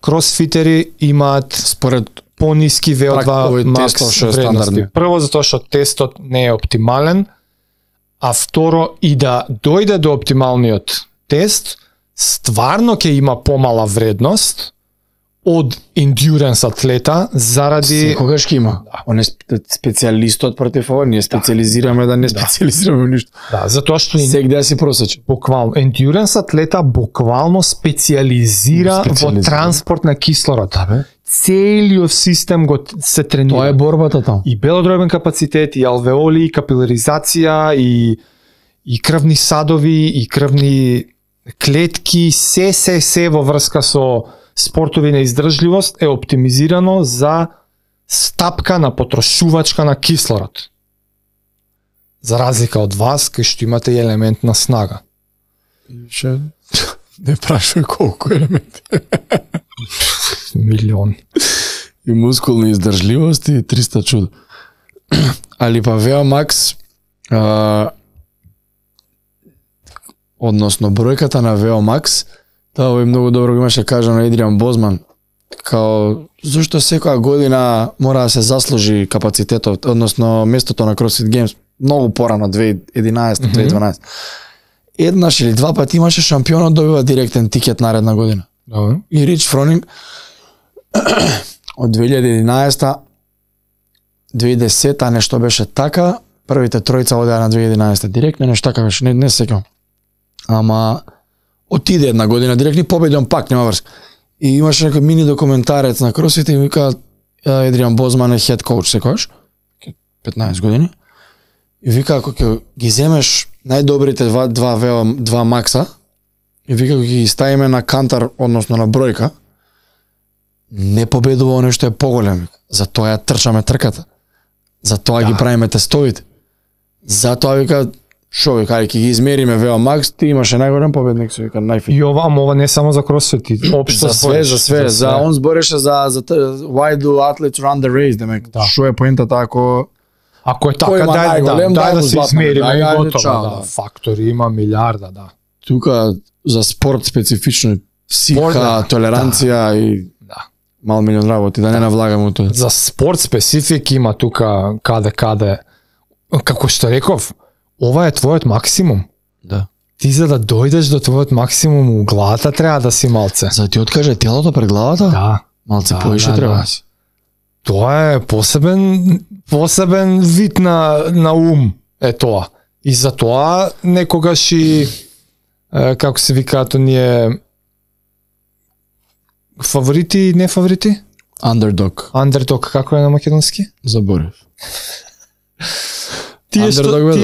кросфитери имаат според пониски VO2 макс вредности. Прво затоа што тестот не е оптимален, а второ и да дојде до оптималниот тест, стварно ќе има помала вредност од endurance атлета заради
секогаш ќе има. Он е специјалистот против ова, ние специализираме да не специализираме ништо.
Да, затоа што
сегде си просече.
Буквално endurance атлета буквално специализира во транспорт на кислород. Целиот систем го се тренира.
Тоа е борбата таму.
И белодробен капацитет, и алвеоли, и капиларизација, и крвни садови, и крвни клетки, се во врска со спортови на издржливост е оптимизирано за стапка на потрошувачка на кислород. За разлика од вас, кај што имате и елемент на снага.
Ше не прашај колку елементи.
Милион.
И мускулна издржливост и 300 чуда. Али па VO Max, односно бројката на VO Max, тоа е многу добро го имаше кажа на Едриан Бозман, као зашто секоја година мора да се заслужи капацитетот, односно местото на CrossFit Games многу порано 2011-2012. Еднаш или два пати имаше шампионот добива директен тикет наредна година. И Рич Фронинг од 2011 2010 нешто беше така, првите тројца одеа на 2011 директно, нешто така беше, не сеќавам. Ама отиде една година директно и победи он пак, нема врска. И имаше некој мини документарец на CrossFit и вика Едриан Бозман е хед коуч секојаш, 15 години. И вика ако ќе ги земеш најдобрите два макса и вика ако ги ставиме на кантар, односно на бројка, не победува оно што е поголем. Затоа ја трчаме трката. Затоа ги правиме тестовите. Затоа вика шо вика, ќе ги измериме VO Max, ти имаше најголем победник, се вика најфит.
И ова не само за CrossFit, општо
за он збореше за why do athletes run the race, демек. Шо е поентата
ако е така, дај да се измериме и готово. Фактори има милиарда, да.
Тука за спорт специфично психа, толеранција и мал милион работи, да не навлагаме тоа.
За спорт специфик има тука каде. Како што реков, ова е твојот максимум.
Да.
Ти за да дојдеш до твојот максимум у главата треба да си малце.
За да ти откаже телото пред главата?
Да.
Малце поише треба да си.
Тоа е посебен вид на ум е тоа. И за тоа некогаш и како се викаат оние фаворити, не фаворити? Underdog, како е на македонски?
Заборев.
Тие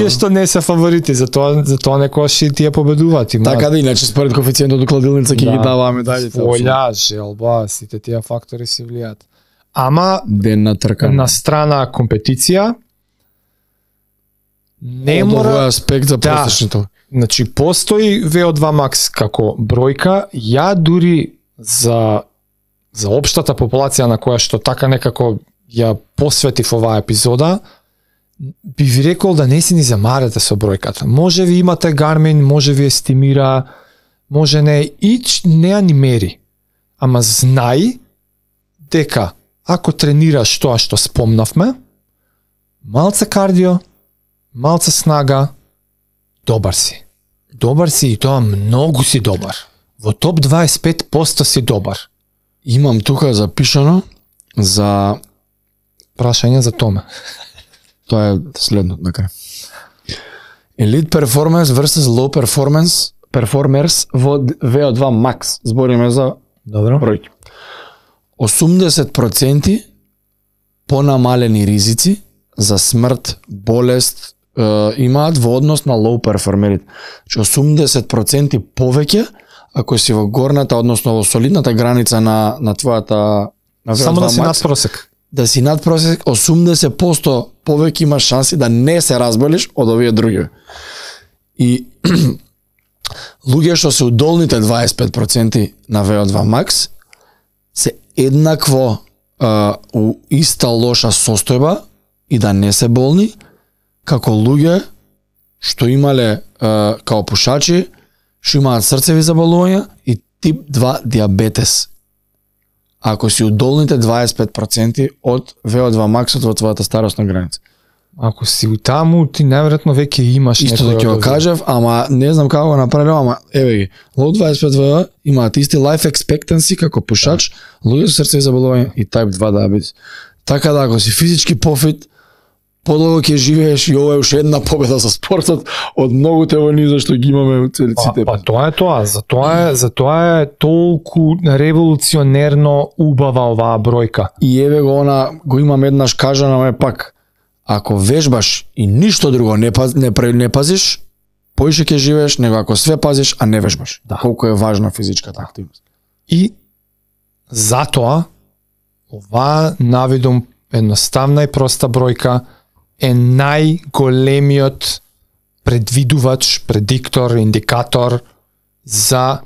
што не се фаворити, затоа некогаш и тие победуваат.
Така да, иначе според коефициентот од кладилница ќе ги даваме медалите.
Волја, желба, сите тие фактори се влијаат. Ама
ден на тркање.
На страна компетиција не
од
мора
овој аспект за просечното.
Значи постои VO2 Max како бројка, ја дури за општата популација на која што така некако ја посветив оваа епизода, би ви рекол да не си ни замарате со бројката. Може ви имате Garmin, може ви естимира, може не, не ја ни мери. Ама знај дека ако тренираш тоа што спомнавме, малце кардио, малце снага, добар си. Добар си и тоа многу си добар. Во топ 25% си добар.
Имам тука запишано за
Прашање за Томе.
тоа е следното на крај. Elite performance versus low performers во VO2 max. Збориме за
Добро.
бројки. 80% понамалени ризици за смрт, болест имаат во однос на low перформерите. 80% повеќе ако си во горната, односно во солидната граница на твојата на
Само да
VO2
си
max,
над просек.
да си над просек, 80% повеќе имаш шанси да не се разболиш од овие други. И луѓе што се удолните 25% на VO2 max се еднакво у иста лоша состојба и да не се болни, како луѓе што имале као пушачи, што имаат срцеви заболувања и тип 2 диабетес. Ако си удолните 25% од VO2 максот во твојата старосна граница.
Ако си у таму, ти најверојатно веќе имаш
Исто да ќе го кажав, ама не знам како го направиле, ама еве ги. Low 25 VO имаат исти life expectancy како пушач, луѓе со срцеви заболувања и type 2 диабетес. Така да ако си физички пофит, подолго ќе живееш и ова е уште една победа за спортот од многуте војни зашто ги имаме у целиците.
Па тоа е тоа, затоа е толку револуционерно убава оваа бројка.
И еве го го имам еднаш кажано, ме пак. Ако вежбаш и ништо друго не пазиш, поише ќе живееш него ако све пазиш, а не вежбаш.
Да.
Колку е важна физичката активност.
И затоа оваа навидум едноставна и проста бројка е најголемиот предвидувач, предиктор, индикатор за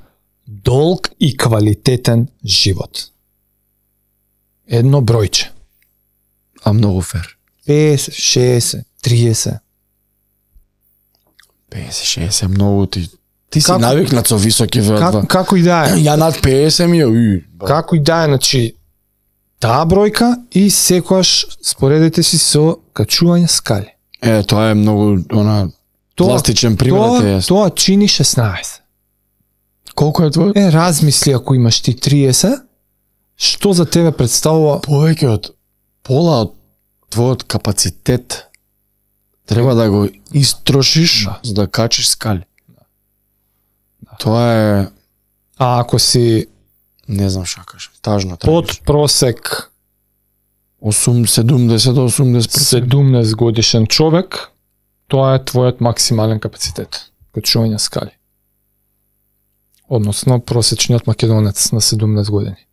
долг и квалитетен живот. Едно бројче.
А многу фер.
50, 60, 30.
50-60 многу ти си
Како-
навикнат со високи VO2.
Како и да е.
Ја над 50 ми е.
Како и да е, значи, таа бројка и секојаш споредете си со качување скали.
Тоа е многу пластичен пример е.
Тоа чини 16.
Колку е твој?
Размисли ако имаш ти 30, што за тебе представува
Повеќе од пола од твојот капацитет треба да го истрошиш за да качиш скали. Тоа е,
а ако си
не знам што кажам, тажно.
под просек
70 до 80%.
17 годишен човек, тоа е твојот максимален капацитет качување скали. Односно просечниот македонец на 17 години.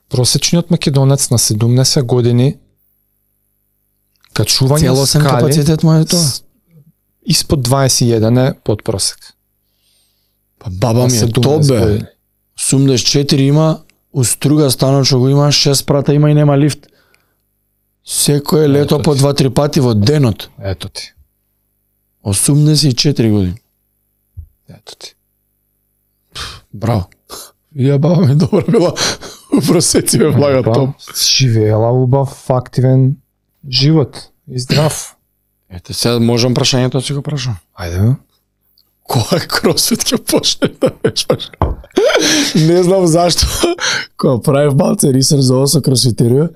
Просечниот македонец на 17 години качување
Целосен
скали
капацитет му е тоа.
Испод 21 е под просек.
Па баба
На
ми е
17
тобе.
години.
84 има, у струга станот што го има 6 спрата има и нема лифт. Секое лето
Ето
по
ти.
2-3 пати во денот.
Ето ти.
84 години.
Ето ти.
Браво. Ја баба ми добра била у просеци ме влага топ.
Живеела убав, активен живот и здрав.
Ете, сега можам прашањето да си го прашам.
Ајде, бе.
Кој кросфит ќе почне да вежбаш? Не знам зашто. Кога правив малце ресерч за ова со кросфитерија,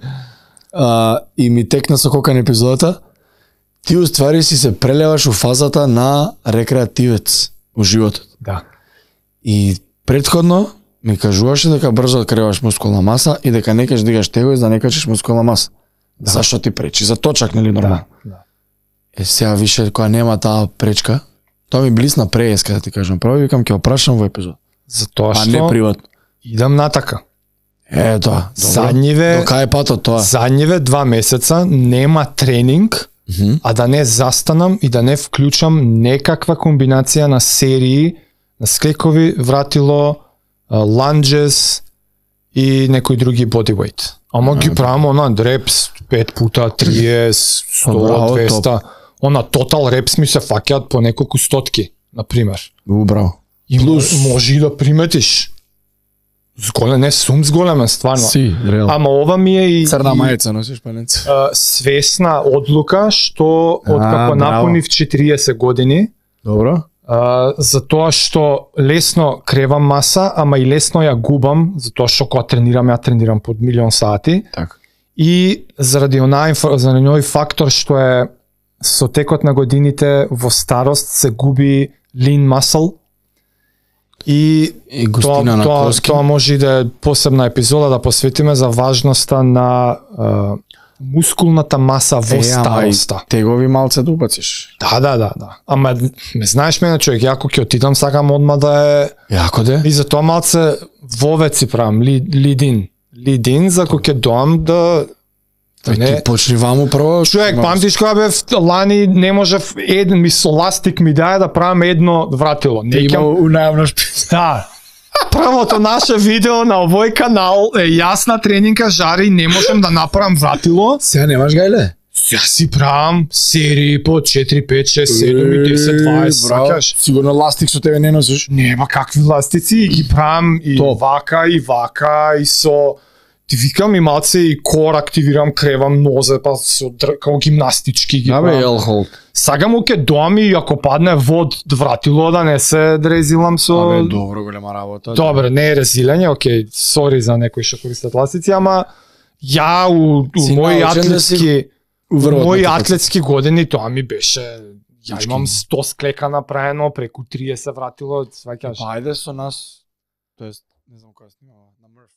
и ми текна со кокан епизодата, ти уствари си се прелеваш у фазата на рекреативец у животот.
Да.
И претходно ми кажуваше дека брзо откриваш мускулна маса и дека не кеш дигаш тегови за да не качиш мускулна маса.
Да.
Зашто ти пречи? За точак, нели нормално?
Да.
Сега више кога нема таа пречка, тоа ми блисна прееска да ти кажам. Право викам ќе опрашам во епизод.
Затоа
А не
што
приватно.
идам натака.
Тоа.
Задниве,
До кај е патот тоа?
задниве 2 месеца нема тренинг, а да не застанам и да не вклучам некаква комбинација на серии, на скекови, вратило, ланџес и некои други бодивейт. Ама ги правам она репс 5 пута 30, 100,
Браво,
200. Она тотал репс ми се фаќаат по неколку стотки, на пример.
Браво.
И
Плюс-
може и да приметиш. Зголем, не сум зголемен стварно.
Си, реално.
Ама ова ми е и
Црна мајца носиш паленце.
Свесна одлука што
браво.
откако напунив 40 години,
Добро.
затоа што лесно кревам маса, ама и лесно ја губам, затоа што кога тренирам, ја тренирам под милион сати.
Така.
И заради оној фактор што е со текот на годините во старост се губи lean muscle и
густина на коски.
тоа може и да е посебна епизода да посветиме за важноста на мускулната маса во староста.
Тегови малце да убациш.
Да. Ама ме знаеш мене човек, ја ако ќе отидам сакам одма да е
Јако де?
и за тоа малце вовеци правам, лидин за кога ќе доам да
Ти почни ваму прво.
човек, памтиш кога бев лани не можев еден ми со ластик ми дај да правам едно вратило. Не
Има
ќе
унајавна шпица.
да. Првото наше видео на овој канал е јас на тренинка жари не можам да направам вратило.
Сега немаш гајле?
Ја си правам серии по 4, 5, 6, 7 и 10, 20, сакаш?
Сигурно ластик со тебе не носиш.
Нема какви ластици и ги правам и
Топ.
вака и со ти викам и малце и кор активирам, кревам нозе па со како гимнастички ги
Абе,
правам.
елхол.
Сега му ке доам и ако падне вод вратило да не се дрезилам со
Абе, добро голема работа.
Добре, не е резилење, окей, сори за некои што користат ластици, ама ја у
Си
мои
научен да
атлетски
Уврвот
мои
на текот.
атлетски години тоа ми беше ја
Значи,
имам 100 склека направено, преку 30 вратило, сваќаш.
Па ајде со нас, тоест, не знам која снимава, на Мрф.